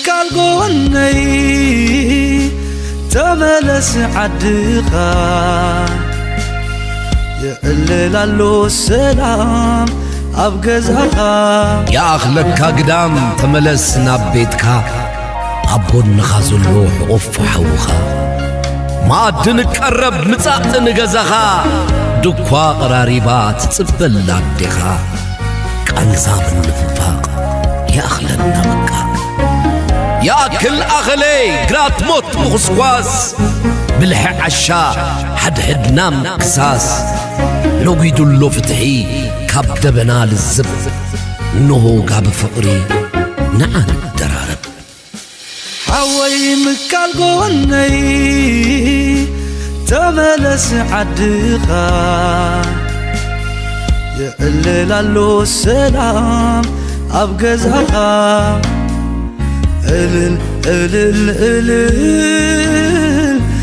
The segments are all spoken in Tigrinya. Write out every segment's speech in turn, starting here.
ቃል ጎነይ ተመለስ ዓድኻ፣ የዕልል ኣሎ ሰላም ኣብ ገዛኻ። ይኣኽለካ ግዳም ተመለስ ናብ ቤትካ፣ ኣብ ጎንኻ ዘሎ ሕቑፍ ሓውኻ። መኣዲ ንቀረብ ምጻእ ንገዛኻ፣ ድኳ ቀራሪባ ትጽበላ ኣዴኻ። ቃንዛ ምንፍፋቕ ይኣኽለና በቃ። ይኣክል ኣኸለ ግራት ሞት ምኹስኳስ፣ ብልሒ ዓሻ ሓድሕድና ምክሳስ። ነጒዱሎ ፍትሒ ካብ ደበና ልዝብ፣ እንሆ ጋቢ ፍቕሪ ንዓ ንደራረብ። ሓወይ ምካል ጎነይ ተመለስ ዓድኻ፣ የዕልል ኣሎ ሰላም ኣብ ገዛኻ። እልል እልል እልል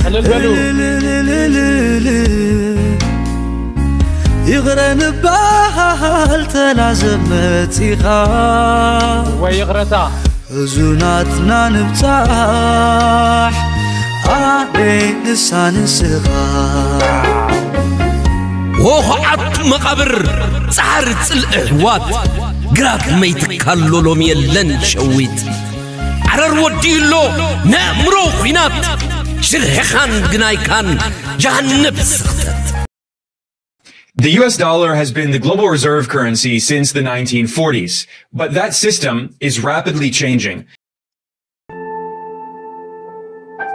እልል በሉ። እልል እልል እልል። ይቕረ ንበሃል ተላዘብ መጺኻ። ወይ ይቕረታ። ሕዙናትና ንብጻሕ ኣደይ ንሳ ንስኻ። ወኹዓት መቓብር ጻዕሪ ጽልኢ ኣሕዋት፣ ግራት መይትካሎ ሎሚ የለን ሸዊት። ዓረር ወዲኡሎ ነእምሮ ኲናት፣ ሽርሕኻን ግናይካን ጀሃነብ ስኽተት። The U S dollar has been the global reserve currency since the nineteen forties, but that system is rapidly changing.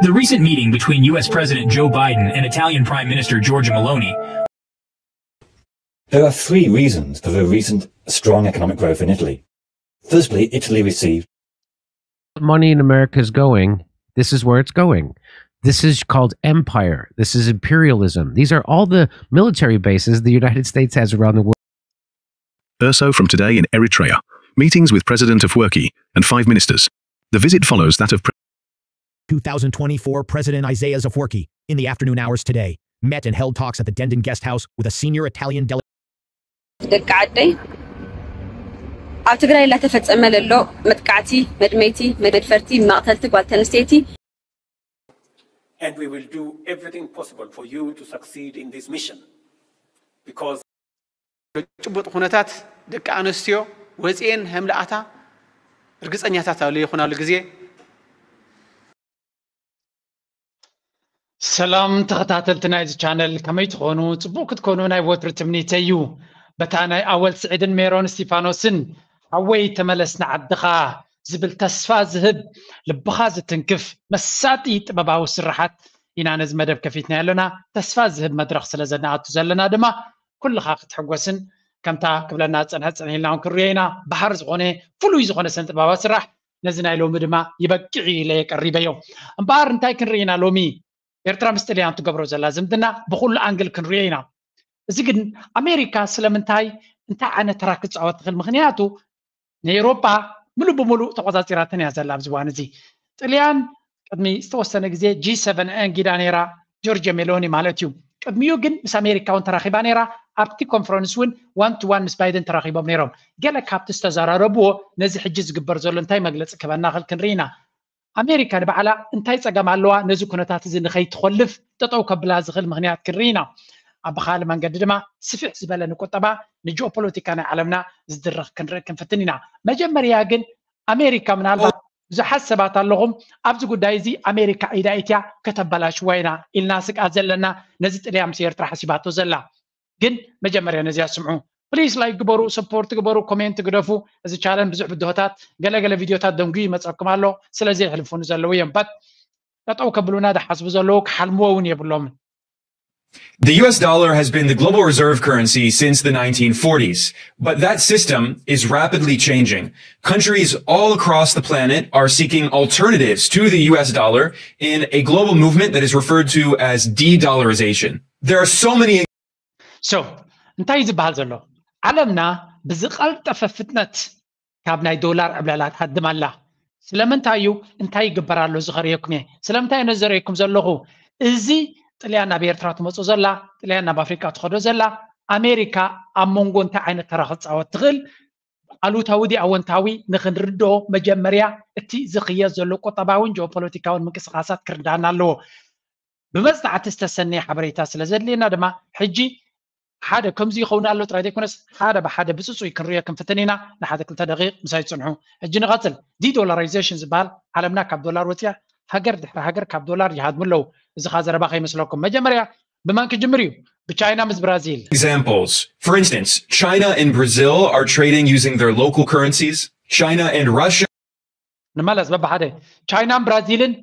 The recent meeting between U S President Joe Biden and Italian Prime Minister Giorgia Meloni. There are three reasons for the recent strong economic growth in Italy. Firstly, Italy received Money in America is going, this is where it's going. This is called empire. This is imperialism. These are all the military bases the United States has around the world. Urso from Today in Eritrea. Meetings with President Afwerki and five ministers. The visit follows that of Pre- two thousand twenty-four President Isaias Afwerki in the afternoon hours today met and held talks at the Denden Guest House with a senior Italian delegate. ደቂ ዓደይ፣ ኣብ ትግራይ ላተፈጸመ ለሎ መጥቃዕቲ፣ መድመይቲ፣ መድፈርቲ፣ መቕተልቲ ጓል ተንስተይቲ፣ And we will do everything possible for you to succeed in this mission because ጭቡጥ ኩነታት ደቂ ኣንስትዮ ወፂኤን ሀምለኣታ እርግፀኛታት ኣለይኹናሉ ግዜ። ሰላም ተኸታተልቲ ናይዚ ቻነል፣ ከመይ ትኾኑ? ፅቡቕ ክትኮኑ ናይ ወትሩ ትምኒተይ እዩ። በታ ናይ ኣወል ስዒድን ሜሮን እስቲፋኖስን ሓወይ ተመለስ ንዓድኻ ዝብል ተስፋ ዝህብ፣ ልብኻ ዝትንክፍ መሳጢ ጥበባዊ ስርሓት ኢና ነዚ መደብ ከፊትና ያለና። ተስፋ ዝህብ መድረኽ ስለ ዘናኣቱ ዘለና ድማ ኩልኻ ክትሕጎስን ከምታ ክብለና ዝጸንሐ ጽንሕ ኢልና እውን ክንሪኦ ኢና። በሓር ዝኾነ ፍሉይ ዝኾነ ስነ ጥበባዊ ስራሕ ነዚ ናይ ሎሚ ድማ ይበቅዕ ኢለ የቀሪበዮ። እምበኣር እንታይ ክንርኢ ኢና ሎሚ? ኤርትራ ምስ ጥልያን ትገብሮ ዘላ ዝምድና ብኹሉ ኣንግል ክንሪኦ ኢና። እዚ ግን ኣሜሪካ ስለምንታይ እንታይ ዓይነት ተራ ክጻወት ትኽእል? ምኽንያቱ ንኤውሮጳ ምሉእ ብምሉእ ተቖጻጺራተን እያ ዘላ ኣብዚ እዋን እዚ። ጥልያን ቅድሚ ዝተወሰነ ግዜ ጂ ሰቨን ኣንጊዳ ነይራ፣ ጆርጅ ሜሎኒ ማለት እዩ። ቅድሚኡ ግን ምስ ኣሜሪካ እውን ተራኺባ ነይራ። ኣብቲ ኮንፈረንስ እውን ዋን ቱ ዋን ምስ ባይደን ተራኺቦም ነይሮም። ገለ ካብቲ ዝተዘራረብዎ ነዚ ሕጂ ዝግበር ዘሎ እንታይ መግለፂ ክህበና ክእል ክንርኢ ኢና። ኣሜሪካ ንባዕላ እንታይ ጸገም ኣለዋ ነዚ ኩነታት እዚ ንኸይትኾልፍ ጠጠው ከብላ ዝኽእል ምኽንያት ክንርኢ ኢና። ኣብ ብኻሊ መንገዲ ድማ ስፍሕ ዝበለ ንቁጠባ ንጂኦፖለቲካ ናይ ዓለምና ዝድርኽ ክንርኢ ክንፍትን ኢና። መጀመርያ ግን ኣሜሪካ ምናልባት ብዙሓት ሰባት ኣለኹም ኣብዚ ጉዳይ እዚ ኣሜሪካ ኢዳ ኢትያ ከተበላሽዋ ኢና ኢልና ስግኣት ዘለና ነዚ ጥልያ ምስ ኤርትራ ሓሲባቶ ዘላ። ግን መጀመርያ ነዚኣ ስምዑ ፕሊስ ላይክ ግበሩ፣ ሰፖርት ግበሩ፣ ኮሜንት ግደፉ። እዚ ቻለን ብዙሕ ብድሆታት ገለገለ ቪድዮታት ደንጉዩ ይመፀኩም ኣሎ። ስለዚ የሕልፉ ንዘለዉ እዮም በት ጠጠው ከብሉና ዝሓስቡ ዘለዉ ክሓልምዎ እውን የብሎምን። The U S dollar has been the global reserve currency since the nineteen forties, but that system is rapidly changing. Countries all across the planet are seeking alternatives to the U S dollar in a global movement that is referred to as de dollarization. There are so many so እንታይ እዩ ዝበሃል ዘሎ? ዓለምና ብዝቐልጠፈ ፍጥነት ካብ ናይ ዶላር ዕብለላ ትሃድም ኣላ። ስለምንታይ እዩ? እንታይ ይግበር ኣሎ? እዚ ከርእየኩም እየ። ስለምንታይ እየ ነዚ ዘርእየኩም ዘለኹ? እዚ ጥልያን ናብ ኤርትራ ትመጾ ዘላ፣ ጥልያን ናብ ኣፍሪቃ ትኸዶ ዘላ፣ ኣሜሪካ ኣብ መንጎ እንታይ ዓይነት ተራ ክትጻወት ትኽእል? ኣሉታዊ ድዩ ኣወንታዊ ንክንርድኦ መጀመርያ እቲ ዝኽየድ ዘሎ ቁጠባውን ጂኦፖለቲካውን ምንቅስቃሳት ክርዳና ኣለዎ። ብመጽናዕቲ ዝተሰነየ ሓበሬታ ስለ ዘድልየና ድማ ሕጂ ሓደ ከምዚ ይኸውን ኣሎ ጥራይ ዘይኮነስ ሓደ ብሓደ ብፅፁይ ክንሪኦ ክንፍትን ኢና። ንሓደ ክልተ ደቂቕ ምሳይ ፅንሑ። ሕጂ ንቐፅል። ዲዶላራይዜሽን ዝበሃል ዓለምና ካብ ዶላር ወፅያ ሃገር ድሕሪ ሃገር ካብ ዶላር ይሃድሙ ኣለዉ። እዚ ኻ ዘረባ ከይመስለኩም መጀመርያ ብመን ክጅምር እዩ? ብቻይና ምስ ብራዚል። Examples. For instance, China and Brazil are trading using their local currencies. China and Russia ንመለስ በብሓደ። ቻይናን ብራዚልን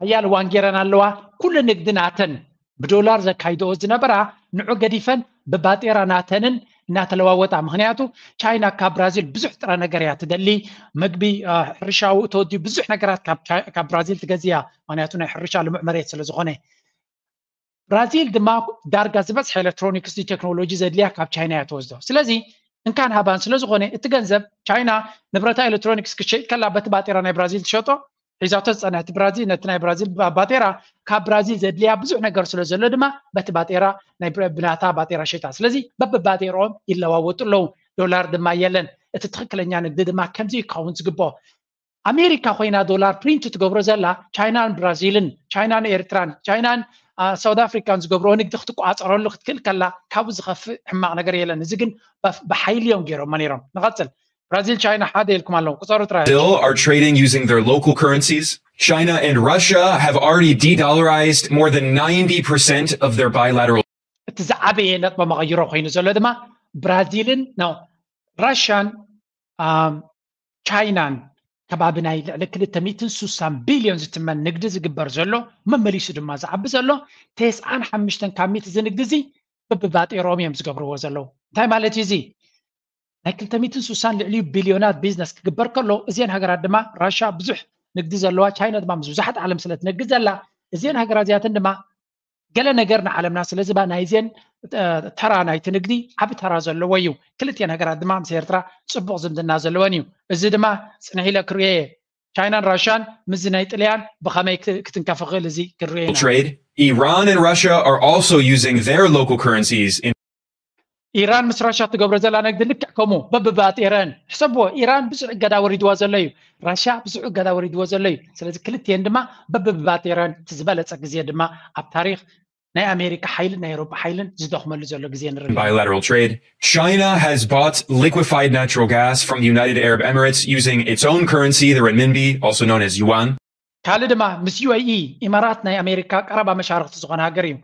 ሓያል ዋንጌረን ኣለዋ። ኩሉ ንግዲ ናተን ብዶላር ዘካይደኦ ዝነበራ ንዑ ገዲፈን ብባጤራ ናተንን እናተለዋወጣ። ምክንያቱ ቻይና ካብ ብራዚል ብዙሕ ጥረ ነገር እያ ትደሊ። መግቢ፣ ሕርሻዊ እተወዲ ብዙሕ ነገራት ካብ ብራዚል ትገዝያ። ምክንያቱ ናይ ሕርሻ ልሙዕ መሬት ስለዝኾነ ብራዚል ድማ ዳርጋ ዝበዝሐ ኤሌክትሮኒክስ ቴክኖሎጂ ዘድልያ ካብ ቻይና እያ ትወስዶ። ስለዚ እንካን ሃባን ስለዝኾነ እቲ ገንዘብ ቻይና ንብረታ ኤሌክትሮኒክስ ክሸይጥ ከላ በቲ ባጤራ ናይ ብራዚል ትሸጦ ሒዛቶ ዝፀንሐት ብራዚል ነቲ ናይ ብራዚል ባጤራ ካብ ብራዚል ዘድልያ ብዙሕ ነገር ስለ ዘሎ ድማ በቲ ባጤራ ናይ ብናታ ባጤራ ሸይጣ። ስለዚ በብባጤርኦም ይለዋወጡ ኣለዉ። ዶላር ድማ የለን። እቲ ትኽክለኛ ንግዲ ድማ ከምዚ ክኸውን ዝግብኦ። ኣሜሪካ ኮይና ዶላር ፕሪንት ትገብሮ ዘላ ቻይናን ብራዚልን ቻይናን ኤርትራን ቻይናን ሳውት ኣፍሪካን ዝገብርዎ ንግዲ ክትቋፀረሉ ክትክእል ከላ ካብኡ ዝኸፍእ ሕማቕ ነገር የለን። እዚ ግን ብሓይሊ እዮም ገይሮሞ ነይሮም። ንቐፅል። ብራዚል ቻይና ሓደ ኢልኩም ኣለዉ ቁፀሩ ጥራይ። Brazil are trading using their local currencies. China and Russia have already de-dollarized more than ninety percent of their bilateral እቲ ዝዓበየ ነጥበ መቐይሮ ኮይኑ ዘሎ ድማ ብራዚልን ራሽያን ቻይናን ከባቢ ናይ ልዕሊ ክልተ ሚእትን ሱሳን ቢልዮን ዝትመን ንግዲ ዝግበር ዘሎ መመሊሱ ድማ ዝዓቢ ዘሎ ተስዓን ሓሙሽተን ካብ ሚእቲ እዚ ንግዲ እዚ ብብባጤሮም እዮም ዝገብርዎ ዘለዉ። እንታይ ማለት እዩ እዚ? ናይ ክልተ ሚእትን ሱሳን ልዕሊኡ ቢልዮናት ቢዝነስ ክግበር ከሎ እዚአን ሃገራት ድማ ራሻ ብዙሕ ንግዲ ዘለዋ ቻይና ድማ ምስ ብዙሓት ዓለም ስለ ትነግድ ዘላ እዚአን ሃገራት እዚኣተን ድማ ገለ ነገር ንዓለምና ስለ ዝባ ናይዜን ተራ ናይቲ ንግዲ ዓቢ ተራ ዘለዎ እዩ። ክልቲኤን ሃገራት ድማ ምስ ኤርትራ ጽቡቕ ዝምድና ዘለወን እዩ። እዚ ድማ ጽንሕ ኢለ ክርእየ ቻይናን ራሻን ምስዚ ናይ ጥልያን ብኸመይ ክትንከፍ ክእል እዚ ክርእየ ኢና። Trade. Iran and Russia are also using their local currencies in ኢራን ምስ ራሻ ትገብሮ ዘላ ንግዲ ልክዕ ከምኡ በብባጤረን ሕሰብዎ። ኢራን ብዙሕ እገዳ ወሪድዋ ዘሎ እዩ። ራሻ ብዙሕ እገዳ ወሪድዎ ዘሎ እዩ። ስለዚ ክልቲኤን ድማ በብባጤረን እቲ ዝበለጸ ግዜ ድማ ኣብ ታሪኽ ናይ ኣሜሪካ ሓይልን ናይ ኤሮጳ ሓይልን ዝደኽመሉ ዘሎ ግዜ ንርኢ። Bilateral trade. China has bought liquefied natural gas from the United Arab Emirates using its own currency, the renminbi, also known as yuan. ካልእ ድማ ምስ ዩ ኤ ኢ ኢማራት ናይ ኣሜሪካ ቀረባ መሻርክቲ ዝኾነ ሃገር እዩ።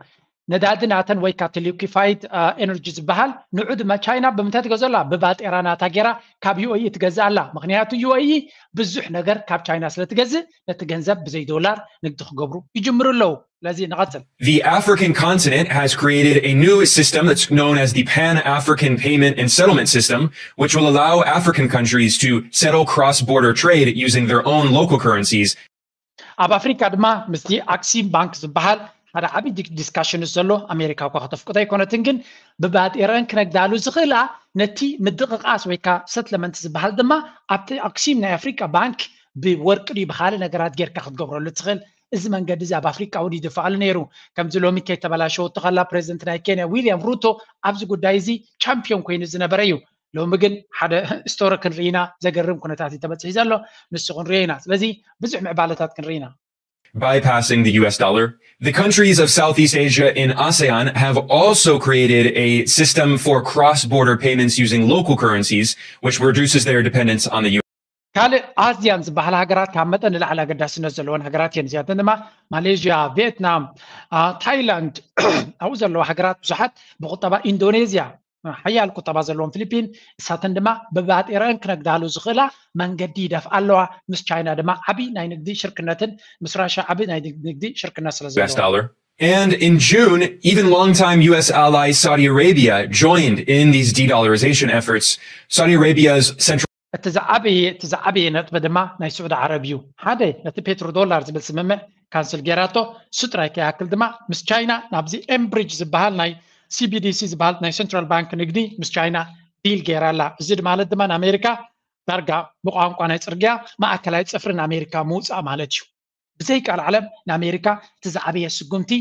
ነዳዲ ናተን ወይ ካቲ ሊኪፋይድ ኤነርጂ ዝበሃል ንዑ ድማ ቻይና ብምንታይ ትገዘላ ብባጤራ ናታ ገይራ ካብ ዩ ኤ ኢ ትገዝእ ኣላ። ምክንያቱ ዩ ኤ ኢ ብዙሕ ነገር ካብ ቻይና ስለ ትገዝእ ነቲ ገንዘብ ብዘይ ዶላር ንግዲ ክገብሩ ይጅምሩ ኣለዉ። ስለዚ ንቐጽል። The African continent has created a new system that's known as the Pan-African Payment and Settlement System, which will allow African countries to settle cross-border trade using their own local currencies. ኣብ ኣፍሪካ ድማ ምስቲ ኣክሲም ባንክ ዝበሃል ሓደ ዓብዪ ዲስካሽንስ ዘሎ ኣሜሪካ እኳ ከተፍቅዶ ኣይኮነትን፣ ግን ብባጤረን ክነግዳሉ ዝኽእላ ነቲ ምድቕቓስ ወይ ከዓ ሰትለመንት ዝበሃል ድማ ኣብቲ ኣክሲም ናይ ኣፍሪካ ባንክ ብወርቂ ድዩ ብካልእ ነገራት ጌርካ ክትገብረሉ ትኽእል። እዚ መንገዲ እዚ ኣብ ኣፍሪቃ እውን ይድፋኣሉ ነይሩ። ከምዚ ሎሚ ከይተበላሸወቶ ከላ ፕሬዚደንት ናይ ኬንያ ዊልያም ሩቶ ኣብዚ ጉዳይ እዚ ቻምፒዮን ኮይኑ ዝነበረ እዩ። ሎሚ ግን ሓደ ስቶሪ ክንርኢ ኢና። ዘገርም ኩነታት እዩ ተበፂሑ ዘሎ። ንሱ ክንሪኦ ኢና። ስለዚ ብዙሕ ምዕባለታት ክንርኢ ኢና። Bypassing the U S dollar, the countries of Southeast Asia in ASEAN have also created a system for cross-border payments using local currencies, which reduces their dependence on the U S. ካልእ ኣዝያን ዝበሃላ ሃገራት ካብ መጠን ንላዕሊ ኣገዳስነት ዘለወን ሃገራት እየን። እዚኣተን ድማ ማሌዥያ፣ ቪየትናም፣ ታይላንድ፣ ኣብኡ ዘለዋ ሃገራት ብዙሓት ብቁጠባ፣ ኢንዶኔዝያ ሓያል ቁጠባ ዘለዎም ፊሊፒን፣ እሳተን ድማ ብባጤረን ክነግዳሉ ዝኽእላ መንገዲ ይደፍኣ ኣለዋ። ምስ ቻይና ድማ ዓብዪ ናይ ንግዲ ሽርክነትን ምስ ራሻ ዓብዪ ናይ ንግዲ ሽርክነት ስለ U S dollar. And in June, even longtime U S ally Saudi Arabia joined in these de-dollarization efforts. Saudi Arabia's central እቲ ዝዓበየ እቲ ዝዓበየ ነጥቢ ድማ ናይ ስዑዲ ዓረብ እዩ። ሓደ ነቲ ፔትሮ ዶላር ዝብል ስምምዕ ካንስል ጌራቶ። እሱ ጥራይ ከይኣክል ድማ ምስ ቻይና ናብዚ ኤምብሪጅ ዝበሃል ናይ ሲ ቢ ዲ ሲ ዝበሃል ናይ ሴንትራል ባንክ ንግዲ ምስ ቻይና ዲል ጌራ ኣላ። እዚ ማለት ድማ ንኣሜሪካ ዳርጋ ብቋንቋ ናይ ፅርግያ ማእከላይ ፅፍሪ ንኣሜሪካ ምውፃእ ማለት እዩ። ብዘይ ቃል ዓለም ንኣሜሪካ እቲ ዝዓበየ ስጉምቲ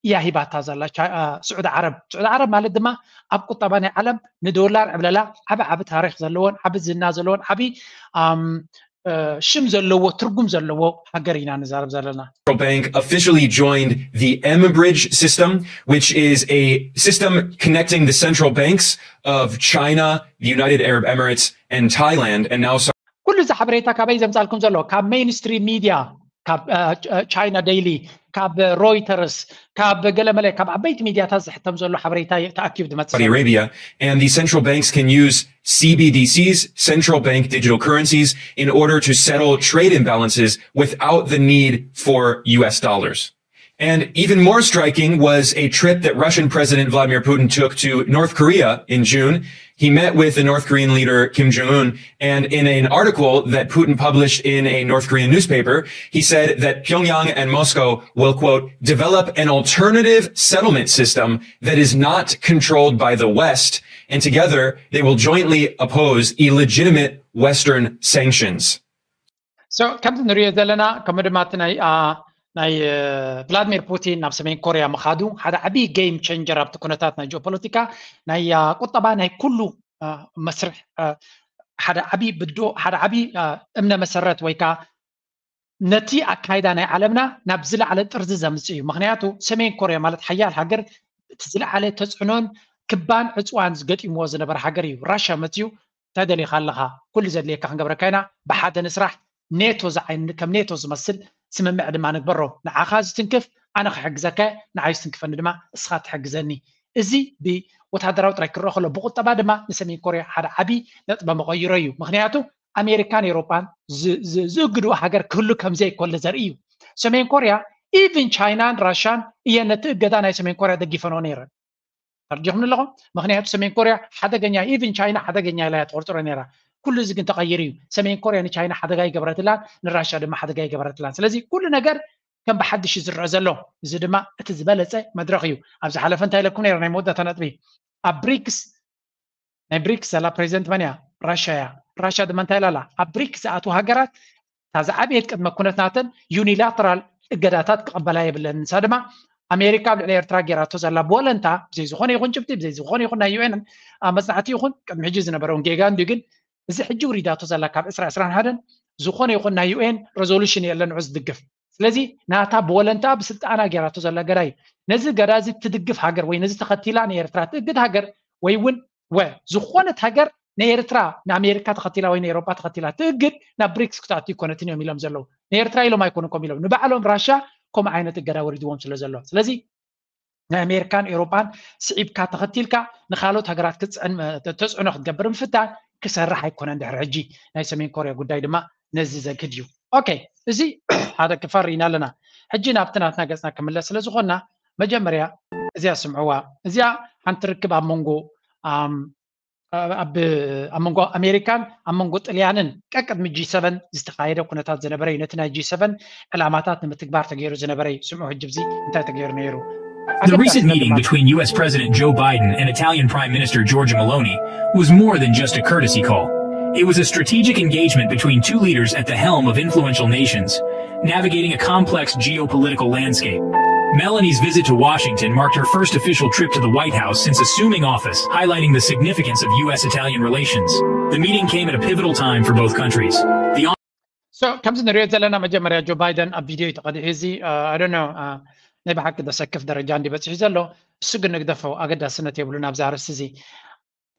እያ ሂባታ ዘላ ስዑዲ ዓረብ። ስዑዲ ዓረብ ማለት ድማ ኣብ ቁጠባ ናይ ዓለም ንዶላር ዕብለላ ዓቢ ዓቢ ታሪክ ዘለዎን ዓቢ ዝና ዘለዎን ዓቢ ሽም ዘለዎ ትርጉም ዘለዎ ሃገር ኢና ንዛረብ ዘለና። Central Bank officially joined the Enbridge system, which is a system connecting the central banks of China, the United Arab Emirates, and Thailand, and now ኩሉ እዚ ሓበሬታ ካበይ ዘምጻልኩም ዘሎ? ካብ mainstream media፣ ካብ China Daily፣ ካብ Reuters፣ ካብ ገለመለ ካብ ዓበይቲ ሚድያታት ዝሕተም ዘሎ ሓበሬታ ተኣኪቡ ዝመጽእ። Saudi Arabia, and the central banks can use C B D Cs, central bank digital currencies, in order to settle trade imbalances without the need for U S dollars. And even more striking was a trip that Russian President Vladimir Putin took to North Korea in June. He met with the North Korean leader Kim Jong Un, and in an article that Putin published in a North Korean newspaper, he said that Pyongyang and Moscow will, quote, develop an alternative settlement system that is not controlled by the West, and together they will jointly oppose illegitimate Western sanctions. So ከምዚ ንሪኦ ዘለና፣ ከምኡ ድማ እቲ ናይ ናይ ቭላድሚር ፑቲን ናብ ሰሜን ኮርያ ምኻዱ ሓደ ዓብዪ game changer ኣብቲ ኩነታት ናይ ጂኦፖለቲካ፣ ናይ ቁጠባ፣ ናይ ኩሉ መስርሕ ሓደ ዓብዪ ብድሆ፣ ሓደ ዓብዪ እምነ መሰረት ወይ ከዓ ነቲ ኣካይዳ ናይ ዓለምና ናብ ዝለዓለ ጥርዚ ዘምፅእ እዩ። ምክንያቱ ሰሜን ኮርያ ማለት ሓያል ሃገር፣ እቲ ዝለዓለ ተፅዕኖን ክባን ዕፅዋን ዝገጢምዎ ዝነበረ ሃገር እዩ። ራሻ መፅዩ እንታይ ደሊኻ ኣለኻ? ኩሉ ዘድልየካ ክንገብረካ ኢና፣ ብሓደ ንስራሕ፣ ኔቶ ዝዓይን ከም ኔቶ ዝመስል ስምምዕ ድማ ንግበሮ። ንዓኻ ዝትንክፍ ኣነ ክሕግዘካ፣ ንዓይ ዝትንክፈኒ ድማ እስኻ ትሕግዘኒ። እዚ ብወታደራዊ ጥራይ ክረአ ከሎ፣ ብቁጠባ ድማ ንሰሜን ኮርያ ሓደ ዓቢ ነጥበ መቐይሮ እዩ። ምክንያቱ ኣሜሪካን ኤውሮጳን ዝእግድኡ ሃገር ክህሉ ከምዘይኮለ ዘርኢ እዩ። ሰሜን ኮርያ ኢቭን ቻይናን ራሻን እየን ነቲ እገዳ ናይ ሰሜን ኮርያ ደጊፈንኦ ነይረን። ተረዲኹም ኣለኹም? ምክንያቱ ሰሜን ኮርያ ሓደገኛ፣ ኢቭን ቻይና ሓደገኛ ኢላ እያ ትቆርጥሮ ነይራ። ኩሉ እዚ ግን ተቐይሩ እዩ። ሰሜን ኮርያ ንቻይና ሓደጋ ይገበረትላን ንራሻ ድማ ሓደጋ ይገበረትላን። ስለዚ ኩሉ ነገር ከም ብሓድሽ እዩ ዝረአ ዘሎ። እዚ ድማ እቲ ዝበለፀ መድረኽ እዩ። ኣብ ዝሓለፈ እንታይ ኢለኩም ነይረ? ናይ መወዳእታ ነጥቢ፣ ኣብ ብሪክስ፣ ናይ ብሪክስ ዘላ ፕሬዚደንት መን እያ? ራሻ እያ። ራሻ ድማ እንታይ ኢላ ኣላ? ኣብ ብሪክስ ዝኣትዉ ሃገራት እታ ዝዓበየት ቅድመ ኩነት ናተን ዩኒላተራል እገዳታት ክቐበላ የብለን። ንሳ ድማ ኣሜሪካ ኣብ ልዕሊ ኤርትራ ጌራቶ ዘላ ብወለንታ፣ ብዘይ ዝኾነ ይኹን ጭብጢ፣ ብዘይ ዝኾነ ይኹን ናይ ዩ ኤን መጽናዕቲ ይኹን ቅድሚ ሕጂ ዝነበረውን ጌጋ እንድዩ። ግን እዚ ሕጂ ውሪዳቶ ዘላ ካብ ዕስራ ዕስራን ሓደን ዝኾነ ይኹን ናይ ዩ ኤን ሬዞሉሽን የለን ንዑ ዝድግፍ። ስለዚ ናታ ብወለንታ ብስልጣና ጌራቶ ዘላ ገዳ እዩ። ነዚ ገዳ እዚ ትድግፍ ሃገር ወይ ነዚ ተኸቲላ ንኤርትራ ትእግድ ሃገር ወይ እውን ወ ዝኾነት ሃገር ንኤርትራ ንኣሜሪካ ተኸቲላ ወይ ንኤውሮጳ ተኸቲላ ትእግድ ናብ ብሪክስ ክትኣቱ ኣይኮነትን እዮም ኢሎም ዘለዉ። ንኤርትራ ኢሎም ኣይኮኑን ከምኡ ኢሎም፣ ንባዕሎም ራሻ ከምኡ ዓይነት እገዳ ወሪድዎም ስለ ዘሎ። ስለዚ ናይ ኣሜሪካን ኤውሮጳን ስዒብካ ተኸቲልካ ንኻልኦት ሃገራት ክትጽዕን፣ ተጽዕኖ ክትገብር ምፍታን ክሰርሕ ኣይኮነን። ድሕሪ ሕጂ ናይ ሰሜን ኮርያ ጉዳይ ድማ ነዚ ዘግድ እዩ። ኦኬ፣ እዚ ሓደ ክፋል ርኢና ኣለና። ሕጂ ናብቲ ናትና ገጽና ክምለስ ስለ ዝኾንና መጀመርያ እዚኣ ስምዕዋ። እዚኣ ሓንቲ ርክብ ኣብ መንጎ ኣብ ኣብ መንጎ ኣሜሪካን ኣብ መንጎ ጥልያንን ቀቅድሚ ጂ ሰቨን ዝተኻየደ ኩነታት ዝነበረ እዩ። ነቲ ናይ ጂ ሰቨን ዕላማታት ንምትግባር ተገይሩ ዝነበረ እዩ። ስምዑ ሕጂ ብዚ እንታይ ተገይሩ ነይሩ? The recent meeting between U S President Joe Biden and Italian Prime Minister Giorgia Meloni was more than just a courtesy call. It was a strategic engagement between two leaders at the helm of influential nations, navigating a complex geopolitical landscape. Meloni's visit to Washington marked her first official trip to the White House since assuming office, highlighting the significance of U S Italian relations. The meeting came at a pivotal time for both countries. The So ከምዚ ንሪኦ ዘለና መጀመርያ ጆ ባይደን ኣብ ቪድዮ እዩ ተቐዲሑ። እዚ I don't know፣ ናይ ብሓቂ ዘሰክፍ ደረጃ እንዲ በፂሑ ዘሎ። እሱ ግን ንግደፎ፣ ኣገዳስነት የብሉን ኣብዚ ኣርእስቲ እዚ።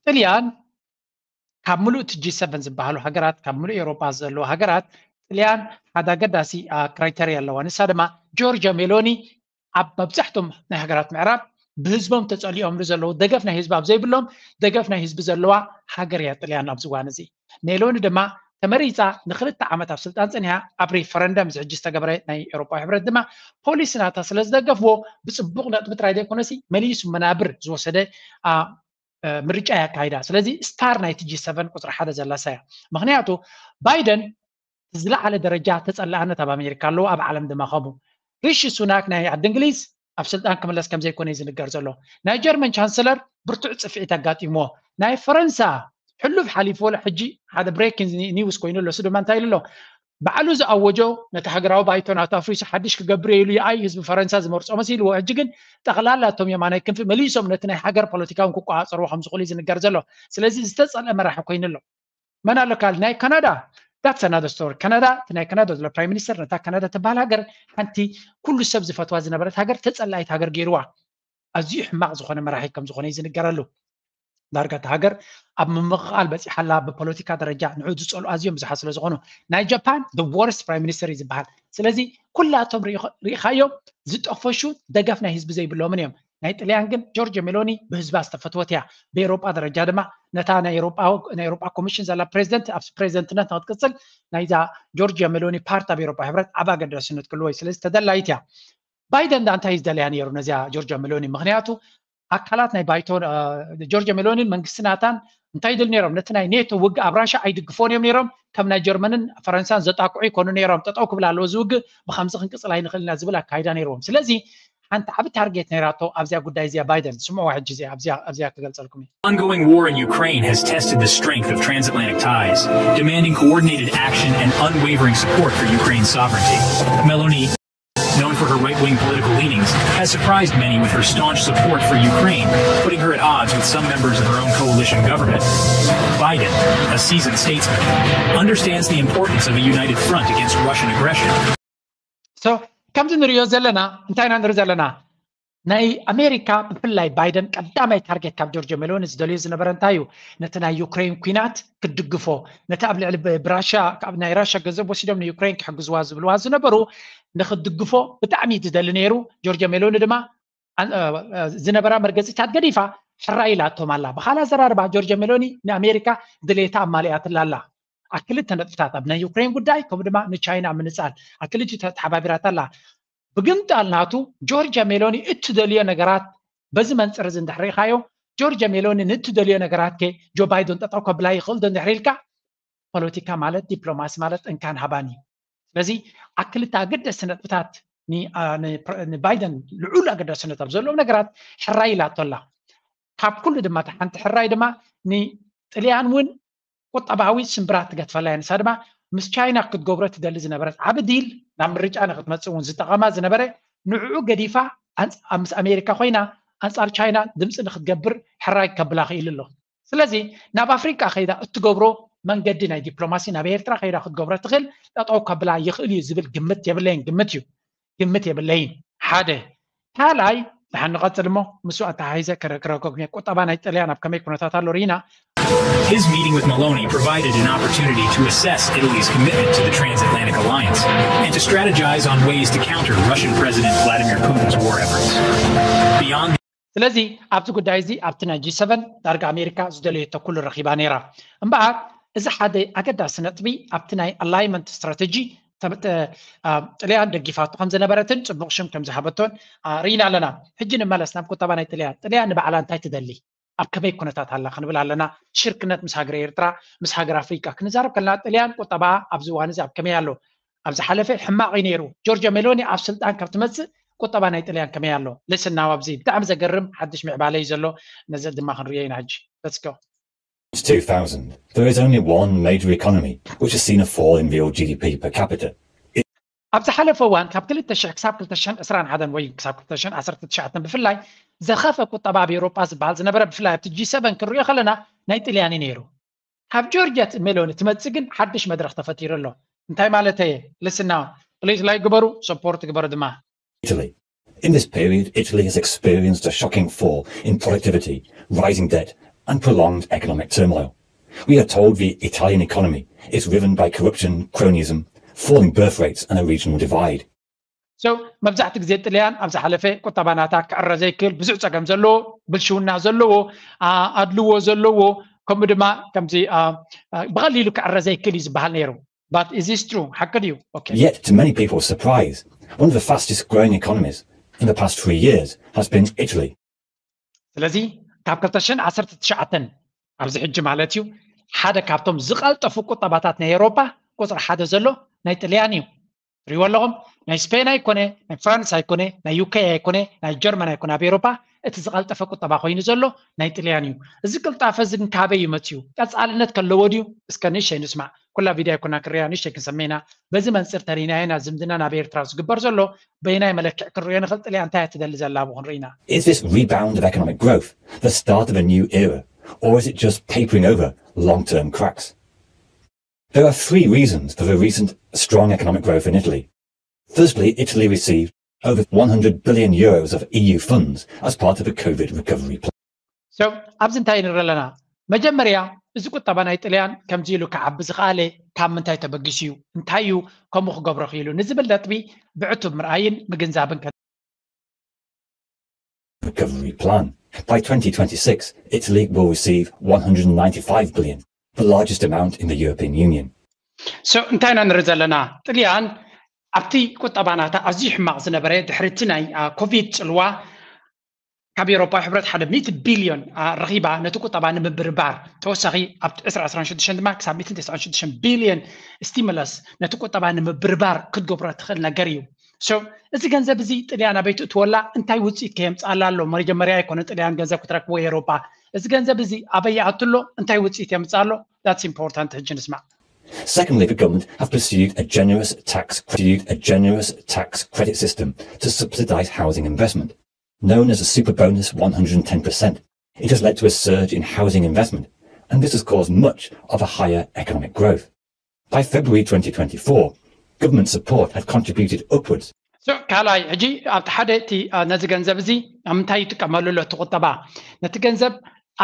ጥልያን ካብ ምሉእ እቲ ጂ ሰቨን ዝበሃሉ ሃገራት፣ ካብ ምሉእ ኤውሮጳ ዘለዉ ሃገራት ጥልያን ሓደ ኣገዳሲ ክራይተርያ ኣለዋ። ንሳ ድማ ጆርጃ ሜሎኒ ኣብ መብዛሕቶም ናይ ሃገራት ምዕራብ ብህዝቦም ተጸሊኦምሉ ዘለዉ፣ ደገፍ ናይ ህዝቢ ኣብ ዘይብሎም፣ ደገፍ ናይ ህዝቢ ዘለዋ ሃገር እያ ጥልያን ኣብዚ እዋን እዚ። ሜሎኒ ድማ ተመሪጻ ንክልተ ዓመት ኣብ ስልጣን ጸኒሓ፣ ኣብ ሪፈረንደም እዚ ሕጂ ዝተገብረ ናይ ኤውሮጳዊ ሕብረት ድማ ፖሊሲ ናታ ስለ ዝደገፍዎ ብጽቡቕ ነጥቢ ጥራይ ዘይኮነሲ መሊሱ መናብር ዝወሰደ ምርጫ እያ ኣካይዳ። ስለዚ ስታር ናይቲ ጂ ሰቨን ቁጽሪ ሓደ ዘላ እሳ እያ። ምክንያቱ ባይደን ዝለዓለ ደረጃ ተጸላእነት ኣብ ኣሜሪካ ኣለዎ፣ ኣብ ዓለም ድማ ከምኡ። ሪሺ ሱናክ ናይ ዓዲ እንግሊዝ ኣብ ስልጣን ክምለስ ከም ዘይኮነ እዩ ዝንገር ዘሎ። ናይ ጀርመን ቻንስለር ብርቱዕ ጽፍዒት ኣጋጢምዎ። ናይ ፈረንሳ ሕሉፍ ሓሊፍዎ ኣሎ። ሕጂ ሓደ ብሬኪንግ ኒውስ ኮይኑ ኣሎ። እሱ ድማ እንታይ ኢሉ ኣሎ? ባዕሉ ዝኣወጆ ነቲ ሃገራዊ ባይቶ ናቱ ኣፍሪሱ ሓድሽ ክገብር ኢሉ ይኣይ ህዝቢ ፈረንሳ ዝመርጾ መሲልዎ። ሕጂ ግን ጠቕላላ እቶም የማናይ ክንፊ መሊሶም ነቲ ናይ ሃገር ፖለቲካውን ክቆጻጸርዎ ከም ዝኽእሉ እዩ ዝንገር ዘሎ። ስለዚ ዝተጸልአ መራሒ ኮይኑ ኣሎ። መን ኣሎ ካልእ? ናይ ካናዳ፣ that's another story። ካናዳ፣ እቲ ናይ ካናዳ ዘሎ ፕራይም ሚኒስተር ነታ ካናዳ ትበሃል ሃገር ሓንቲ ኩሉ ሰብ ዝፈትዋ ዝነበረት ሃገር ተጸላኢት ሃገር ገይርዋ። ኣዝዩ ሕማቕ ዝኾነ መራሒ ከም ዝኾነ እዩ ዝንገረሉ። ዳርጋ እታ ሃገር ኣብ ምምቕቓል በፂሓ ኣላ። ብፖለቲካ ደረጃ ንዑ ዝፀልኡ ኣዝዮም ብዙሓት ስለ ዝኾኑ፣ ናይ ጃፓን the worst prime minister እዩ ዝበሃል። ስለዚ ኩላቶም ርኢኻዮም ዝጠፈሹ ደገፍ ናይ ህዝቢ ዘይብሎምን እዮም። ናይ ጥልያን ግን ጆርጆ ሜሎኒ ብህዝባ ዝተፈትወት እያ። ብኤሮጳ ደረጃ ድማ ነታ ናይ ኤሮጳ ኮሚሽን ዘላ ፕሬዚደንት ኣብ ፕሬዚደንትነት ንክትቅፅል ናይዛ ጆርጆ ሜሎኒ ፓርት ኣብ ኤሮጳ ሕብረት ዓብ ኣገዳስነት ክልዎ እዩ። ስለዚ ተደላይት እያ። ባይደን ዳ እንታይ እዩ ዝደልያ ነይሩ ነዚኣ ጆርጆ ሜሎኒ? ምክንያቱ ኣካላት ናይ ባይቶ ጆርጆ ሜሎኒን መንግስቲ ናታን እንታይ ይደል ነይሮም? ነቲ ናይ ኔቶ ውግእ ኣብ ራሻ ኣይድግፎን እዮም ነይሮም። ከም ናይ ጀርመንን ፈረንሳን ዘጣቅዑ ይኮኑ ነይሮም። ጠጠው ክብል ኣለዎ እዚ ውግእ፣ ብከምዚ ክንቅፅል ኣይንኽእል ኢና ዝብል ኣካይዳ ነይርዎም። ስለዚ ሓንቲ ዓብ ታርጌት ነይራቶ ኣብዚኣ ጉዳይ እዚኣ ባይደን። ስምዕዋ ሕጂ እዚኣ ኣብዚኣ ክገልፀልኩም እዩ። Ongoing war in Ukraine has tested the strength of transatlantic ties, demanding coordinated action and unwavering support for Ukraine's sovereignty. Meloni, known for her right-wing political leanings, has surprised many with her staunch support for Ukraine, putting her at odds with some members of her own coalition government. Biden, a seasoned statesman, understands the importance of a united front against Russian aggression. So ከምዚ ንሪኦ ዘለና እንታይ ኢና ንርኢ ዘለና? ናይ ኣሜሪካ ብፍላይ ባይደን ቀዳማይ ታርጌት ካብ ጆርጆ ሜሎኒ ዝደልዮ ዝነበረ እንታይ እዩ? ነቲ ናይ ዩክሬን ኩናት ክድግፎ፣ ነቲ ኣብ ልዕሊ ብራሻ ካብ ናይ ራሻ ገንዘብ ወሲዶም ንዩክሬን ክሕግዝዋ ዝብልዋ ዝነበሩ ንክድግፎ ብጣዕሚ ዝደሊ ነይሩ። ጆርጆ ሜሎኒ ድማ ዝነበራ መርገፂታት ገዲፋ ሕራይ ኢላቶም ኣላ። ብካል ኣዘራርባ ጆርጆ ሜሎኒ ንኣሜሪካ ድሌታ ኣማሊኣትላ ኣላ። ኣብ ክልተ ነጥብታት ኣብ ናይ ዩክሬን ጉዳይ ከምኡ ድማ ንቻይና ምንፃል ኣብ ክልቲኡ ተሓባቢራት ኣላ። ብግምጣል ናቱ ጆርጆ ሜሎኒ እትደልዮ ነገራት በዚ መንፅር እዚ እንድሕር ርኢኻዮ ጆርጆ ሜሎኒ ንእትደልዮ ነገራት ከ ጆ ባይደን ጠጠው ከብላ ይኽእል ዶ እንድሕር ኢልካ ፖለቲካ ማለት ዲፕሎማሲ ማለት እንካን ሃባን እዩ። ስለዚ ኣብ ክልተ ኣገደስቲ ነጥብታት ንባይደን ልዑል ኣገዳስነት ኣብ ዘለዎም ነገራት ሕራይ ኢላቶ ኣላ። ካብ ኩሉ ድማ ሓንቲ ሕራይ ድማ ንጥልያን እውን ቁጠባዊ ስምብራት ትገትፈላ እያ። ንሳ ድማ ምስ ቻይና ክትገብሮ ትደሊ ዝነበረት ዓብ ዲል ናብ ምርጫ ንክትመፅእ እውን ዝጠቐማ ዝነበረ ንዕኡ ገዲፋ ምስ ኣሜሪካ ኮይና ኣንፃር ቻይና ድምፂ ንክትገብር ሕራይ ከብላ ክኢሉ ኣሎ። ስለዚ ናብ ኣፍሪቃ ከይዳ እትገብሮ መንገዲ ናይ ዲፕሎማሲ ናብ ኤርትራ ከይዳ ክትገብሮ ትኽእል ጠጠው ከብላ ይኽእል እዩ ዝብል ግምት የብለይን። ግምት እዩ ግምት የብለይን። ሓደ ካልኣይ ድሓን ንቐፅል እሞ ምስ ኣተሓሂዘ ክረክረኩም ቁጠባ ናይ ጥልያን ኣብ ከመይ ኩነታት ኣሎ ርኢና። His meeting with Meloni provided an opportunity to assess Italy's commitment to the transatlantic alliance and to strategize on ways to counter Russian President Vladimir Putin's war efforts. Beyond ስለዚ ኣብዚ ጉዳይ እዚ ኣብቲ ናይ ጂ ሰቨን ዳርጋ ኣሜሪካ ዝደለየቶ ኩሉ ረኺባ ነይራ። እምበኣር እዚ ሓደ ኣገዳሲ ነጥቢ ኣብቲ ናይ ኣላይመንት ስትራተጂ ጥልያን ደጊፋቶ ከም ዝነበረትን ፅቡቕ ሽም ከም ዝሃበቶን ርኢና ኣለና። ሕጂ ንመለስ ናብ ቁጠባ ናይ ጥልያን። ጥልያን ንባዕላ እንታይ ትደሊ? ኣብ ከመይ ኩነታት ኣላ ክንብል ኣለና። ሽርክነት ምስ ሃገረ ኤርትራ ምስ ሃገር ኣፍሪቃ ክንዛረብ ከለና ጥልያን ቁጠባ ኣብዚ እዋን እዚ ኣብ ከመይ ኣሎ? ኣብ ዝሓለፈ ሕማቕ እዩ ነይሩ። ጆርጆ ሜሎኒ ኣብ ስልጣን ካብ ትመፅእ ቁጠባ ናይ ጥልያን ከመይ ኣሎ? ልስናው ኣብዚ ብጣዕሚ ዘገርም ሓድሽ ምዕባለ እዩ ዘሎ። ነዚ ድማ ክንርእዮ ኢና ሕጂ። Let's go. Since two thousand, there is only one major economy which has seen a fall in real G D P per capita. ኣብ ዝሓለፈ እዋን ካብ ክልተ ሽሕ ክሳብ ክልተ ሽሕን ዕስራን ሓደን ወይ ክሳብ ክልተ ሽሕን ዓሰርተ ትሽዓተን ብፍላይ ዘኸፈ ቁጠባ ኣብ ኤውሮጳ ዝበሃል ዝነበረ ብፍላይ ኣብቲ ጂ ሰቨን ክንሪኦ ከለና ናይ ጥልያን እዩ ነይሩ። ካብ ጆርጅያ ሜሎኒ ትመጽእ ግን ሓድሽ መድረኽ ተፈጢሩ ኣሎ። እንታይ ማለተይ እየ? ልስና ፕሊዝ ላይክ ግበሩ፣ ሰፖርት ግበሩ ድማ። Italy. In this period, Italy has experienced a shocking fall in productivity, rising debt, and prolonged economic turmoil. We are told the Italian economy is riven by corruption, cronyism, falling birth rates, and a regional divide. So መብዛሕቲ ግዜ ጥልያን ኣብ ዝሓለፈ ቁጠባ ናታ ክዕረ ዘይክእል ብዙሕ ጸገም ዘለዎ ብልሽውና ዘለዎ ኣድልዎ ዘለዎ ከምኡ ድማ ከምዚ ብቐሊሉ ክዕረ ዘይክእል እዩ ዝበሃል ነይሩ። But is this true? ሓቂ ድዩ? Okay. Yet, to many people's surprise, one of the fastest growing economies in the past three years has been Italy. ስለዚ ካብ ክልተ ሽሕን ዓሰርተ ትሽዓተን ኣብዚ ሕጂ ማለት እዩ ሓደ ካብቶም ዝቐልጠፉ ቁጠባታት ናይ ኤውሮፓ ቁፅሪ ሓደ ዘሎ ናይ ጥልያን እዩ። ሪዎ ኣለኹም። ናይ ስፔን ኣይኮነ፣ ናይ ፍራንስ ኣይኮነ፣ ናይ ዩኬ ኣይኮነ፣ ናይ ጀርመን ኣይኮነ፣ ኣብ ኤውሮፓ እቲ ዝቐልጠፈ ቁጠባ ኮይኑ ዘሎ ናይ ጥልያን እዩ። እዚ ቅልጣፈ እዚ ግን ካበይ እዩ መፅዩ? ቀፃልነት ከለዎ ድዩ? እስከ ንእሽተይ ንስማዕ። ኩላ ቪድዮ ኣይኮና ክሪያ፣ ንእሽተይ ክንሰምዕ ኢና። በዚ መንፅር ተሪናዮ ኢና ዝምድና ናብ ኤርትራ ዝግበር ዘሎ በይናይ መለክዕ ክንሪኦ ንኽእል። ጥልያን እንታይ እያ ትደሊ ዘላ ኣብኡ ክንርኢ ኢና። Is this rebound of economic growth the start of a new era, or is it just papering over long-term cracks? There are three reasons for the recent strong economic growth in Italy. Firstly, Italy received over one hundred billion euros of E U funds as part of a COVID recovery plan. So ኣብዚ እንታይ ንርኢ ኣለና? መጀመርያ፣ እዚ ቁጠባ ናይ ጥልያን ከምዚ ኢሉ ክዓቢ ዝኸኣለ ካብ ምንታይ ተበጊሱ እዩ? እንታይ እዩ ከምኡ ክገብሮ ክኢሉ ንዝብል ነጥቢ ብዕቱብ ምርኣይን ምግንዛብን ከ Recovery plan. By twenty twenty-six, Italy will receive one hundred ninety-five billion, the largest amount in the European Union. So እንታይ ኢና ንርኢ ዘለና? ጥልያን ኣብቲ ቁጠባ ናታ ኣዝዩ ሕማቕ ዝነበረ ድሕሪ እቲ ናይ ኮቪድ ፅልዋ ካብ ኤውሮፓዊ ሕብረት ሓደ ሚእቲ ቢልዮን ረኺባ ነቲ ቁጠባ ንምብርባር፣ ተወሳኺ ኣብ ዕስራ ዕስራን ሽዱሽተን ድማ ክሳብ ሚእትን ተስዓን ሽዱሽተን ቢልዮን ስቲሙለስ ነቲ ቁጠባ ንምብርባር ክትገብሮ ትኽእል ነገር እዩ። So እዚ ገንዘብ እዚ ጥልያን ኣበይ ትእትወላ? እንታይ ውፅኢት ከየምፅኣላ ኣሎ? መጀመርያ ኣይኮነ ጥልያን ገንዘብ ክትረክቦ ኤውሮፓ። እዚ ገንዘብ እዚ ኣበይ ይኣቱ ኣሎ? እንታይ ውፅኢት የምፅእ ኣሎ? That's important። ሕጂ ንስማዕ። Secondly, the government have pursued a generous tax pursued a generous tax credit system to subsidise housing investment. Known as a super bonus one hundred and ten percent, it has led to a surge in housing investment, and this has caused much of a higher economic growth. By February twenty twenty-four, government support had contributed upwards So ካልኣይ፣ ሕጂ ኣብቲ ሓደ እቲ ነዚ ገንዘብ እዚ ኣብ ምንታይ ይጥቀመሉ ኣሎ? እቲ ቁጠባ ነቲ ገንዘብ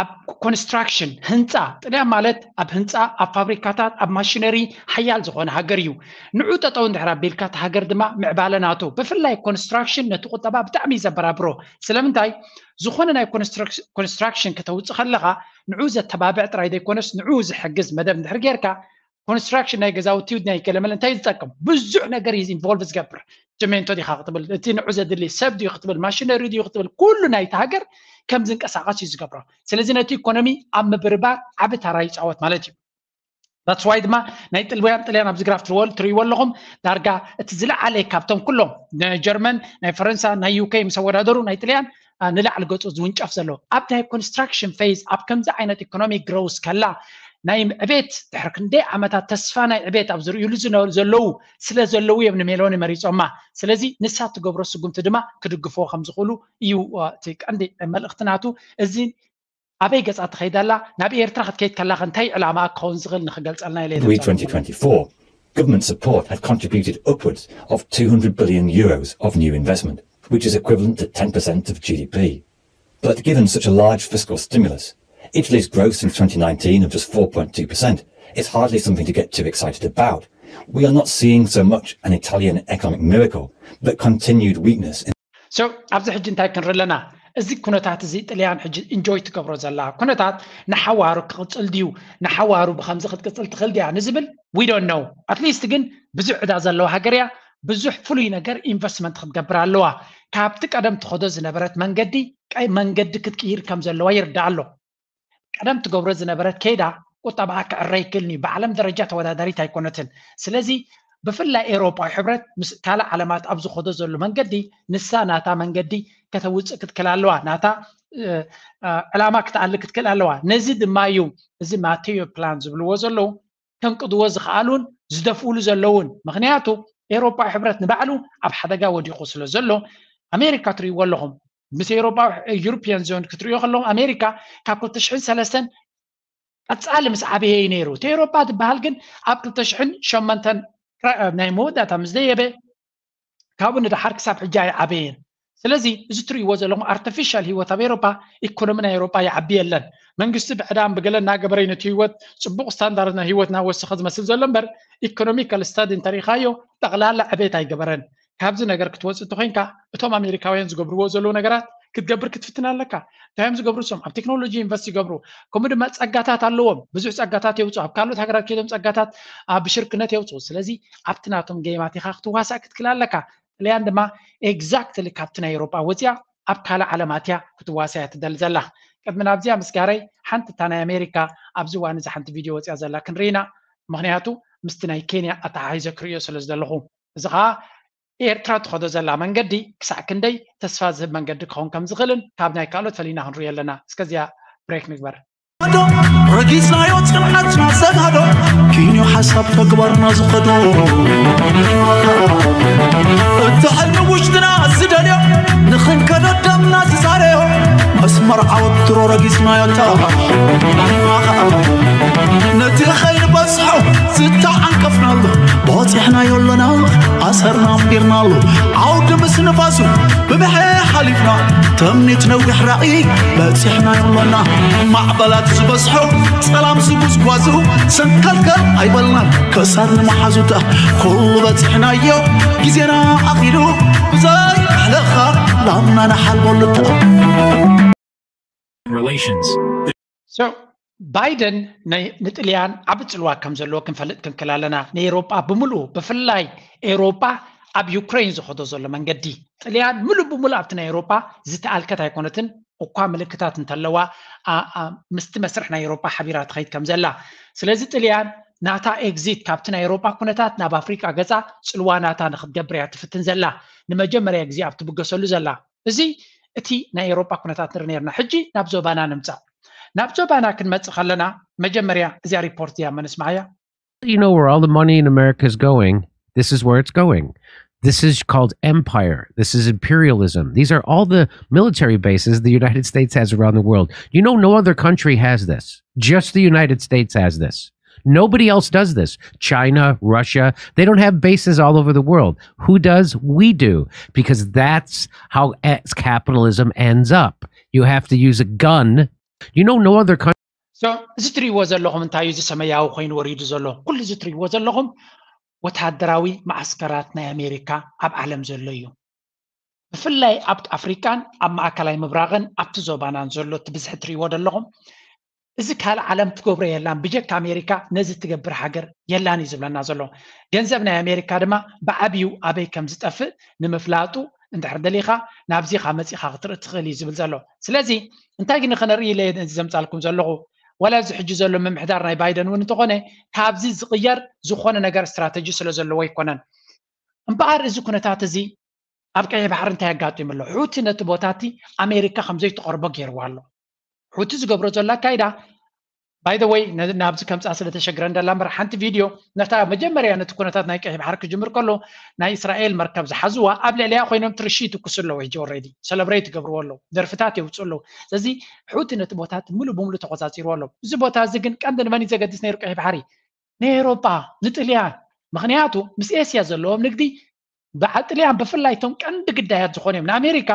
ኣብ ኮንስትራክሽን፣ ህንፃ፣ ጥልያን ማለት ኣብ ህንፃ፣ ኣብ ፋብሪካታት፣ ኣብ ማሽነሪ ሓያል ዝኾነ ሃገር እዩ። ንዑ ጠጠው እንድሕር ኣቢልካ እቲ ሃገር ድማ ምዕባለ ናቱ፣ ብፍላይ ኮንስትራክሽን ነቲ ቁጠባ ብጣዕሚ እዩ ዘበራብሮ። ስለምንታይ? ዝኾነ ናይ ኮንስትራክሽን ከተውፅእ ከለኻ ንዑ ዘተባብዕ ጥራይ ዘይኮነስ ንዑ ዝሕግዝ መደብ እንድሕር ጌርካ ኮንስትራክሽን ናይ ገዛውቲ ናይ ገለመለ እንታይ ዝጠቅም ብዙሕ ነገር እዩ ኢንቮልቭ ዝገብር። ጀሜንቶ ዲኻ ክትብል፣ እቲ ንዑ ዘድሊ ሰብ ድዩ ክትብል፣ ማሽነሪ ድዩ ክትብል፣ ኩሉ ናይቲ ሃገር ከም ዝንቀሳቐስ እዩ ዝገብሮ። ስለዚ ነቲ ኢኮኖሚ ኣብ ምብርባር ዓቢ ታራ ይፃወት ማለት እዩ። That's why ድማ ናይ ጥልያን ጥልያን ኣብዚ ግራፍ ትሪእዎ ኣለኹም። ዳርጋ እቲ ዝለዓለ ካብቶም ኩሎም ናይ ጀርመን፣ ናይ ፈረንሳ፣ ናይ ዩኬ ምስ ኣወዳደሩ ናይ ጥልያን ንላዕሊ ገፁ ዝውንጨፍ ዘሎ ኣብ ናይ ኮንስትራክሽን ፌዝ ኣብ ከምዚ ዓይነት ኢኮኖሚ ግሮውስ ከላ ናይ ዕቤት ድሕሪ ክንደይ ዓመታት ተስፋ ናይ ዕቤት ኣብ ዝርእዩሉ ዘለዉ ስለ ዘለዉ እዮም ንሜሎኒ መሪፆማ። ስለዚ ንሳ ትገብሮ ስጉምቲ ድማ ክድግፍዎ ከም ዝኽእሉ እዩ እቲ ቀንዲ መልእኽቲ ናቱ። እዚ ኣበይ ገፃ ትኸይድ ኣላ? ናብ ኤርትራ ክትከይድ ከላኸ እንታይ ዕላማ ክኸውን ዝኽእል ንክገልፀልና ኢለ February twenty twenty-four, government support had contributed upwards of two hundred billion euros of new investment, which is equivalent to ten percent of G D P. But given such a large fiscal stimulus, Italy's growth since twenty nineteen of just four point two percent is hardly something to get too excited about. We are not seeing so much an Italian economic miracle, but continued weakness in So ኣብዚ ሕጂ እንታይ ክንርኢ ኣለና? እዚ ኩነታት እዚ ጥልያን ሕጂ ኢንጆይ ትገብሮ ዘላ ኩነታት ንሓዋሩ ክቕፅል ድዩ? ንሓዋሩ ብከምዚ ክትቅፅል ትኽእል ድያ ንዝብል we don't know። At least ግን ብዙሕ ዕዳ ዘለዋ ሃገር እያ። ብዙሕ ፍሉይ ነገር ኢንቨስትመንት ክትገብር ኣለዋ። ካብቲ ቀደም ትኸዶ ዝነበረት መንገዲ ቀይ መንገዲ ክትቅይር ከም ዘለዋ ይርዳእ ኣሎ። ቀደም ትገብሮ ዝነበረት ከይዳ ቁጠባኣ ክዕረ ይክእልን እዩ። ብዓለም ደረጃ ተወዳዳሪት ኣይኮነትን። ስለዚ ብፍላይ ኤውሮጳዊ ሕብረት ምስ ካልእ ዓለማት ኣብ ዝኸዶ ዘሎ መንገዲ ንሳ ናታ መንገዲ ከተውፅእ ክትክእል ኣለዋ። ናታ ዕላማ ክትኣሊ ክትክእል ኣለዋ። ነዚ ድማ እዩ እዚ ማቴዮ ፕላን ዝብልዎ ዘለዉ ከንቅድዎ ዝኽኣሉን ዝደፍኡሉ ዘለውን። ምኽንያቱ ኤውሮጳዊ ሕብረት ንባዕሉ ኣብ ሓደጋ ወዲቑ ስለ ዘሎ ኣሜሪካ ትርእይዎ ኣለኹም። ምስ ኤውሮጳ ዩሮፒያን ዞን ክትርእዮ ከለኹም ኣሜሪካ ካብ ክልተ ሽሕን ሰለስተን ቀጻሊ ምስ ዓበየ እዩ ነይሩ። እቲ ኤውሮጳ ዝበሃል ግን ኣብ ክልተ ሽሕን ሸሞንተን ናይ መወዳእታ ምስ ደየበ ካብኡ ንደሓር ክሳብ ሕጂ ኣይዓበየን። ስለዚ እዚ ትርእይዎ ዘለኹም ኣርቲፊሻል ህይወት ኣብ ኤውሮጳ ኢኮኖሚ ናይ ኤውሮጳ ይዓቢ የለን። መንግስቲ ብዕዳን ብገለ እናገበረ ነቲ ህይወት ጽቡቕ ስታንዳርድ ናይ ህይወት እናወሰኸ ዝመስል ዘሎ እምበር ኢኮኖሚካል ስታዲ እንተሪኢኻዮ ጠቕላላ ዕቤት ኣይገበረን። ካብዚ ነገር ክትወፅእ እንተኮይንካ እቶም ኣሜሪካውያን ዝገብርዎ ዘለዉ ነገራት ክትገብር ክትፍትን ኣለካ። እንታይ እዮም ዝገብሩ? እሶም ኣብ ቴክኖሎጂ ኢንቨስት ይገብሩ፣ ከምኡ ድማ ፀጋታት ኣለዎም፣ ብዙሕ ፀጋታት የውፅኡ፣ ኣብ ካልኦት ሃገራት ከይዶም ፀጋታት ኣብ ሽርክነት የውፅኡ። ስለዚ ኣብቲ ናቶም ጌማት ኢኻ ክትዋሳእ ክትክእል ኣለካ። ጥልያን ድማ ኤግዛክትሊ ካብቲ ናይ ኤውሮጳ ወፂኣ ኣብ ካልእ ዓለማት እያ ክትዋሳእ እያ ትደሊ ዘላ። ቅድሚ ናብዚኣ ምስጋረይ ሓንቲ እታ ናይ ኣሜሪካ ኣብዚ እዋን እዚ ሓንቲ ቪድዮ ወፂኣ ዘላ ክንርኢና፣ ምክንያቱ ምስቲ ናይ ኬንያ ኣተሓሒዘ ክርእዮ ስለ ዝደለኹ። እዚ ከዓ ኤርትራ ትኸዶ ዘላ መንገዲ ክሳዕ ክንደይ ተስፋ ዝህብ መንገዲ ክኸውን ከም ዝኽእልን ካብ ናይ ካልኦት ፈሊና ክንሪኦ ኣለና። እስከዚኣ ብሬክ ንግበር። ረጊጽናዮ ጽንዓትና ዘጋዶ ኪንዮ ሓሳብ ተግባርና ዝኸዶ እቲ ሕልሚ ውሽጥና ዝደልዮ ንኽንከዶ ደምና ዝዛረዮ መስመር ዓወት ድሮ ረጊጽናዮ ተባሂሉ ነቲ ኸይንበጽሖ ዝተዓንቀፍናሉ በጺሕናዮ ኣለና ኣሰርና ኣንቢርናሉ ዓውዲ ምስ ንፋሱ ብምሐ ሓሊፍና ተምኒት ነዊሕ ራእይ በጺሕናዮ ኣለና ማዕበላት ዝበዝሖ ጸላም ዝጉዝጓዙ ሰንከልከል ኣይበልናን ከሳር ንመሓዙታ ኩሉ በጺሕናዮ ግዜና ኣኺሉ ብዘይ ካሕለኻ ላምና ንሓልበሉ relations. So ባይደን ናይ- ንጥልያን ዓቢ ጽልዋ ከም ዘለዎ ክንፈልጥ ክንክል ኣለና። ንኤውሮጳ ብምሉኡ ብፍላይ ኤውሮጳ ኣብ ዩክሬን ዝኸዶ ዘሎ መንገዲ ጥልያን ምሉእ ብምሉእ ኣብቲ ናይ ኤውሮጳ ዝተኣልከት ኣይኮነትን። እኳ ምልክታት እንተለዋ ኣ- ኣ- ምስቲ መስርሕ ናይ ኤውሮጳ ሓቢራ ትኸይድ ከም ዘላ። ስለዚ ጥልያን ናታ ኤግዚት ካብቲ ናይ ኤውሮጳ ኩነታት ናብ ኣፍሪቃ ገጻ ጽልዋ ናታ ንክትገብር እያ ትፍትን ዘላ። ንመጀመርያ ግዜ ኣብ ትብገሰሉ ዘላ እዚ እቲ ናይ ኤውሮጳ ኩነታት ንርኢ ነርና። ሕጂ ናብ ዞባና ንምጻእ። ናብ ዞባና ክንመጽእ ከለና መጀመርያ እዚኣ ሪፖርት እያ መነስማዓያ። You know where all the money in America is going? This is where it's going. This is called empire. This is imperialism. These are all the military bases the United States has around the world. You know, no other country has this. Just the United States has this. Nobody else does this. China, Russia, they don't have bases all over the world. Who does? We do, because that's how e- capitalism ends up. You have to use a gun. You know, no other country. So እዚ ትሪእዎ ዘለኹም እንታይ እዩ? እዚ ሰማያዊ ኮይኑ ወሪዱ ዘሎ ኩሉ እዚ ትሪእዎ ዘለኹም ወታደራዊ ማዓስከራት ናይ ኣሜሪካ ኣብ ዓለም ዘሎ እዩ። ብፍላይ ኣብ ኣፍሪቃን ኣብ ማእከላይ ምብራቕን ኣብቲ ዞባናን ዘሎ እቲ ብዝሒ ትሪእዎ ዘለኹም እዚ ካልእ ዓለም ትገብሮ የላን። ብጀካ ኣሜሪካ ነዚ ትገብር ሃገር የላን እዩ ዝብለና ዘሎ። ገንዘብ ናይ ኣሜሪካ ድማ ብዓብዩ ኣበይ ከም ዝጠፍእ ንምፍላጡ እንድሕር ደሊኻ ናብዚኻ መጺኻ ክትርኢ ትኽእል እዩ ዝብል ዘሎ። ስለዚ እንታይ ግን ከነርኢ ኢለ ነዚ ዘምጻልኩም ዘለኹ ዋላ እዚ ሕጂ ዘሎ ምምሕዳር ናይ ባይደን እውን እንተኾነ ካብዚ ዝቕየር ዝኾነ ነገር ስትራተጂ ስለ ዘለዎ ኣይኮነን። እምበኣር እዚ ኩነታት እዚ ኣብ ቀይሕ ባሕሪ እንታይ ኣጋጢሙ ኣሎ? ሑቲ ነቲ ቦታ እቲ ኣሜሪካ ከም ዘይትቐርቦ ገይርዋ ኣሎ። ሑቲ ዝገብሮ ዘሎ ኣካይዳ by the way ናብዚ ከምፃ ስለ ተሸግረ እንደላ እምበር ሓንቲ ቪድዮ ነታ መጀመርያ ነቲ ኩነታት ናይ ቀይሕ ባሕሪ ክጅምር ከሎ ናይ እስራኤል መርከብ ዝሓዝዋ ኣብ ልዕሊያ ኮይኖም ትርሺ ይትኩሱ ኣለዉ ሕጂ already celebrate ይገብርዎ ኣለዉ ደርፍታት የውፅኡ ኣለዉ ስለዚ ሑቲ ነቲ ቦታት ሙሉ ብሙሉ ተቆፃፂርዎ ኣለዉ እዚ ቦታ እዚ ግን ቀንዲ ንመን እዩ ዘገድስ ነይሩ ቀይሕ ባሕሪ ንኤውሮጳ ንጥልያን ምኽንያቱ ምስ ኤስያ ዘለዎም ንግዲ በዓል ጥልያን ብፍላይ እቶም ቀንዲ ግዳያት ዝኾኑ እዮም ንኣሜሪካ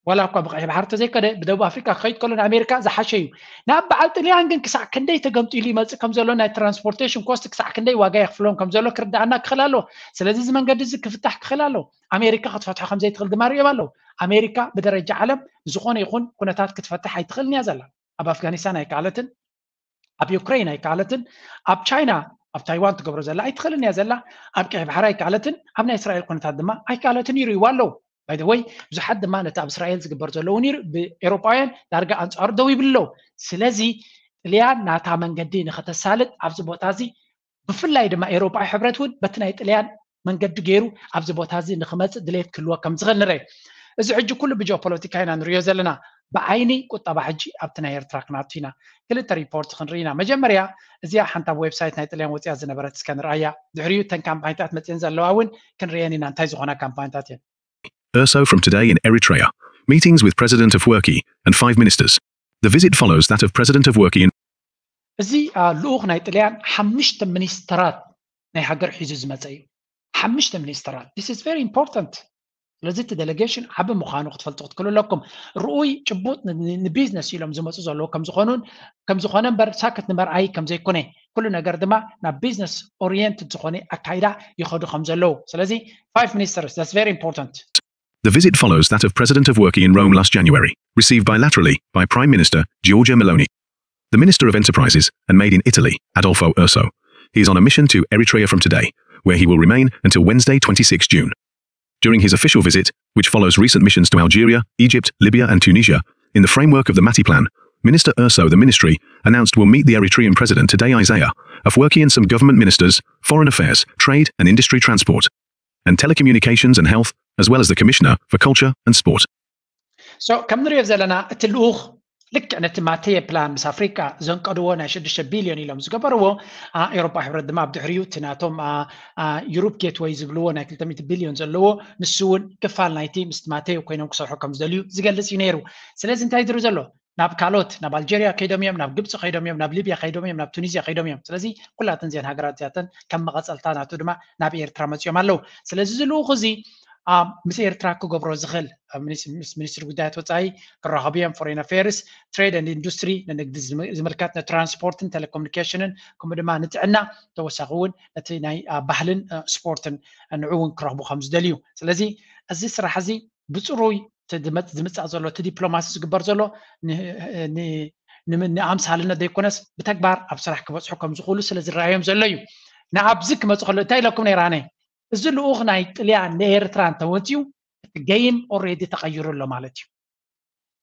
ዋላ እኳ ብቀይሕ ባሕሪ ተዘይከደ ብደቡብ ኣፍሪካ ክኸይድ ከሎ ንኣሜሪካ ዝሓሸ እዩ ናብ በዓል ጥልያን ግን ክሳዕ ክንደይ ተገምጢሉ ይመፅእ ከም ዘሎ ናይ transportation cost ክሳዕ ክንደይ ዋጋ የኽፍሎም ከም ዘሎ ክርዳኣና ክኽእል ኣለዎ ስለዚ እዚ መንገዲ እዚ ክፍታሕ ክኽእል ኣለዎ ኣሜሪካ ክትፈትሖ ከም ዘይትኽእል ድማ ርእዮም ኣለዉ ኣሜሪካ ብደረጃ ዓለም ዝኾነ ይኹን ኩነታት ክትፈትሕ ኣይትኽእልን እያ ዘላ ኣብ ኣፍጋኒስታን ኣይከኣለትን ኣብ ዩክሬን ኣይከኣለትን ኣብ ቻይና ኣብ ታይዋን ትገብሮ ዘላ ኣይትኽእልን እያ ዘላ ኣብ ቀይሕ ባሕሪ ኣይከኣለትን ኣብ ናይ እስራኤል ኩነታት ድማ ኣይከኣለትን ይርእይዋ ኣለዉ by the way ብዙሓት ድማ ነቲ ኣብ እስራኤል ዝግበር ዘሎ እውን ብኤሮጳውያን ዳርጋ ኣንጻሩ ደው ይብሉ ኣለዉ ስለዚ ጥልያን ናታ መንገዲ ንኸተሳልጥ ኣብዚ ቦታ እዚ ብፍላይ ድማ ኤሮጳዊ ሕብረት እውን በቲ ናይ ጥልያን መንገዲ ገይሩ ኣብዚ ቦታ እዚ ንክመፅእ ድሌት ክህልዎ ከም ዝኽእል ንርኢ እዚ ሕጂ ኩሉ ብጂኦፖለቲካ ኢና ንሪኦ ዘለና ብዓይኒ ቁጠባ ሕጂ ኣብቲ ናይ ኤርትራ ክናቱ ኢና ክልተ ሪፖርት ክንርኢ ኢና መጀመርያ እዚኣ ሓንቲ ኣብ ዌብሳይት ናይ ጥልያን ወፅያ ዝነበረት እስከ ንርኣያ ድሕሪኡ እተን ካምፓኒታት መፅየን ዘለዋ እውን ክንርእየን ኢና እንታይ ዝኾና ካምፓኒታት እየን Urso from today in Eritrea. Meetings with President Afwerki and five ministers. The visit follows that of President Afwerki in እዚ ልኡኽ ናይ ጥልያን ሓምሽተ ሚኒስተራት ናይ ሃገር ሒዙ ዝመፀ እዩ ሓምሽተ ሚኒስተራት this is very important ስለዚ እቲ delegation ዓቢ ምዃኑ ክትፈልጡ ክትክእሉ ኣለኩም ርኡይ ጭቡጥ ንቢዝነስ ኢሎም ዝመፁ ዘለዉ ከምዝኾኑን ከምዝኾነ እምበር ሳክት ንመርኣይ ከምዘይኮነ ኩሉ ነገር ድማ ናብ business oriented ዝኾነ ኣካይዳ ይኸዱ ከም ዘለዉ ስለዚ five ministers that's very important The visit follows that of President Afwerki in Rome last January, received bilaterally by Prime Minister Giorgia Meloni. The Minister of Enterprises and Made in Italy, Adolfo Urso, he is on a mission to Eritrea from today, where he will remain until Wednesday, twenty-sixth June. During his official visit, which follows recent missions to Algeria, Egypt, Libya, and Tunisia, in the framework of the Mati Plan, Minister Urso, the ministry, announced will meet the Eritrean president today, Isaiah Afwerki, and some government ministers, foreign affairs, trade, and industry transport. and Telecommunications and Health, as well as the Commissioner for Culture and Sport. So ከም ንሪኦ ዘለና እቲ ልኡኽ ልክዕ ነቲ ማቴየ ፕላን ምስ ኣፍሪቃ ዘንቀድዎ ናይ ሽዱሽተ ቢልዮን ኢሎም ዝገበርዎ፣ ኤውሮፓ ሕብረት ድማ ኣብ ድሕሪኡ እቲ ናቶም ዩሮፕ ጌትወይ ዝብልዎ ናይ ክልተ ሚእቲ ቢልዮን ዘለዎ ንሱ እውን ክፋል ናይቲ ምስ ማቴዮ ኮይኖም ክሰርሑ ከም ዝደልዩ ዝገልጽ እዩ ነይሩ። ስለዚ እንታይ ዝርኢ ዘሎ ናብ ካልኦት ናብ ኣልጀርያ ከይዶም እዮም፣ ናብ ግብፂ ከይዶም እዮም፣ ናብ ሊብያ ከይዶም እዮም፣ ናብ ቱኒዝያ ከይዶም እዮም። ስለዚ ኩላተን እዚኣን ሃገራት እዚኣተን ከም መቐፀልታ ናቱ ድማ ናብ ኤርትራ መፅኦም ኣለዉ። ስለዚ እዚ ልኡኽ እዚ ምስ ኤርትራ ክገብሮ ዝኽእል ምስ ሚኒስትሪ ጉዳያት ወፃኢ ክራኸቡ እዮም፣ ፎሬን ኣፌርስ፣ ትሬድ ን ኢንዱስትሪ፣ ንንግዲ ዝምልከት፣ ንትራንስፖርትን ቴሌኮሙኒኬሽንን፣ ከምኡ ድማ ንጥዕና፣ ተወሳኺ እውን እቲ ናይ ባህልን ስፖርትን ንዑ እውን ክረኽቡ ከም ዝደልዩ። ስለዚ እዚ ስራሕ እዚ ብፅሩይ ዝምፃእ ዘሎ እቲ ዲፕሎማሲ ዝግበር ዘሎ ንኣምሳልነት ዘይኮነስ ብተግባር ኣብ ስራሕ ክበፅሑ ከም ዝኽእሉ ስለ ዝረኣዮም ዘሎ እዩ። ንኣብዚ ክመፁ ከሎ እንታይ ኢለኩም ነይራነ? እዚ ልኡኽ ናይ ጥልያን ንኤርትራ እንተወፅዩ እቲ ገይም ኦሬዲ ተቐይሩ ኣሎ ማለት እዩ።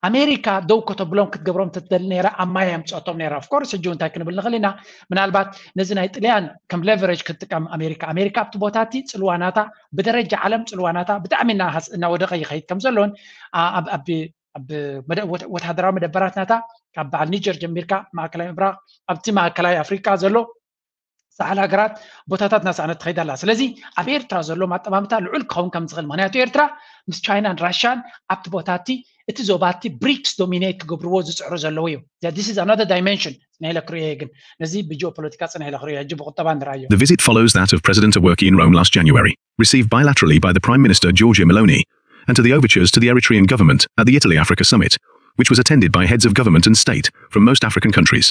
ኣሜሪካ ደው ከተብሎም ክትገብሮም ትደሊ ነይራ፣ ኣብ ማይ ኣምፅኦቶም ነይራ። ኦፍኮርስ ሕጂ እንታይ ክንብል ንኽእል ኢና? ምናልባት ነዚ ናይ ጥልያን ከም ሌቨሬጅ ክትጥቀም ኣሜሪካ ኣሜሪካ ኣብቲ ቦታ እቲ ፅልዋናታ ብደረጃ ዓለም ፅልዋናታ ብጣዕሚ እናወደቀ ይኸይድ ከም ዘሎን ኣብ ወታደራዊ መደበራት ናታ ካብ በዓል ኒጀር ጀሚርካ ማእከላይ ምብራቕ ኣብቲ ማእከላይ ኣፍሪቃ ዘሎ ሳሕል ሃገራት ቦታታት እናሰኣነት ትኸይድ ኣላ። ስለዚ ኣብ ኤርትራ ዘሎ ማጠማምታ ልዑል ክኸውን ከም ዝኽእል፣ ምክንያቱ ኤርትራ ምስ ቻይናን ራሽያን ኣብቲ ቦታቲ እቲ ዞባቲ ብሪክስ ዶሚኔት ክገብርዎ ዝፅዕሩ ዘለዉ እዮም። This is another dimension ናይ ኢለ ክርእዮ ግን ነዚ ብጂኦፖለቲካ ፅንሕ ኢለ ክርእዮ ሕጂ ብቁጠባ ንርኣዮ። The visit follows that of President Afwerki in Rome last January, received bilaterally by the Prime Minister Giorgia Meloni, and to the overtures to the Eritrean government at the Italy Africa Summit, which was attended by heads of government and state from most African countries.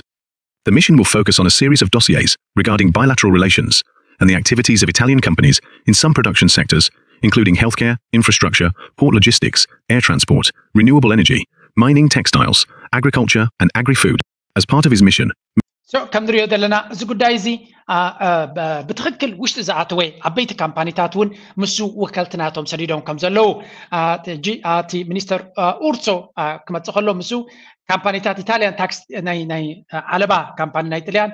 The mission will focus on a series of dossiers regarding bilateral relations and the activities of Italian companies in some production sectors, including healthcare, infrastructure, port logistics, air transport, renewable energy, mining, textiles, agriculture, and agri-food. As part of his mission, So ከም ንሪኦ ዘለና እዚ ጉዳይ እዚ ብትኽክል ውሽጢ ዝኣተወ ዓበይቲ ካምፓኒታት እውን ምስ ወከልቲ ናቶም ሰዲዶም ከም ዘለዉ እቲ ሚኒስተር ኡርሶ ክመፅእ ከሎ ምስ ካምፓኒታት ኢታልያን ታክስ ናይ ናይ ዓለባ ካምፓኒ ናይ ጥልያን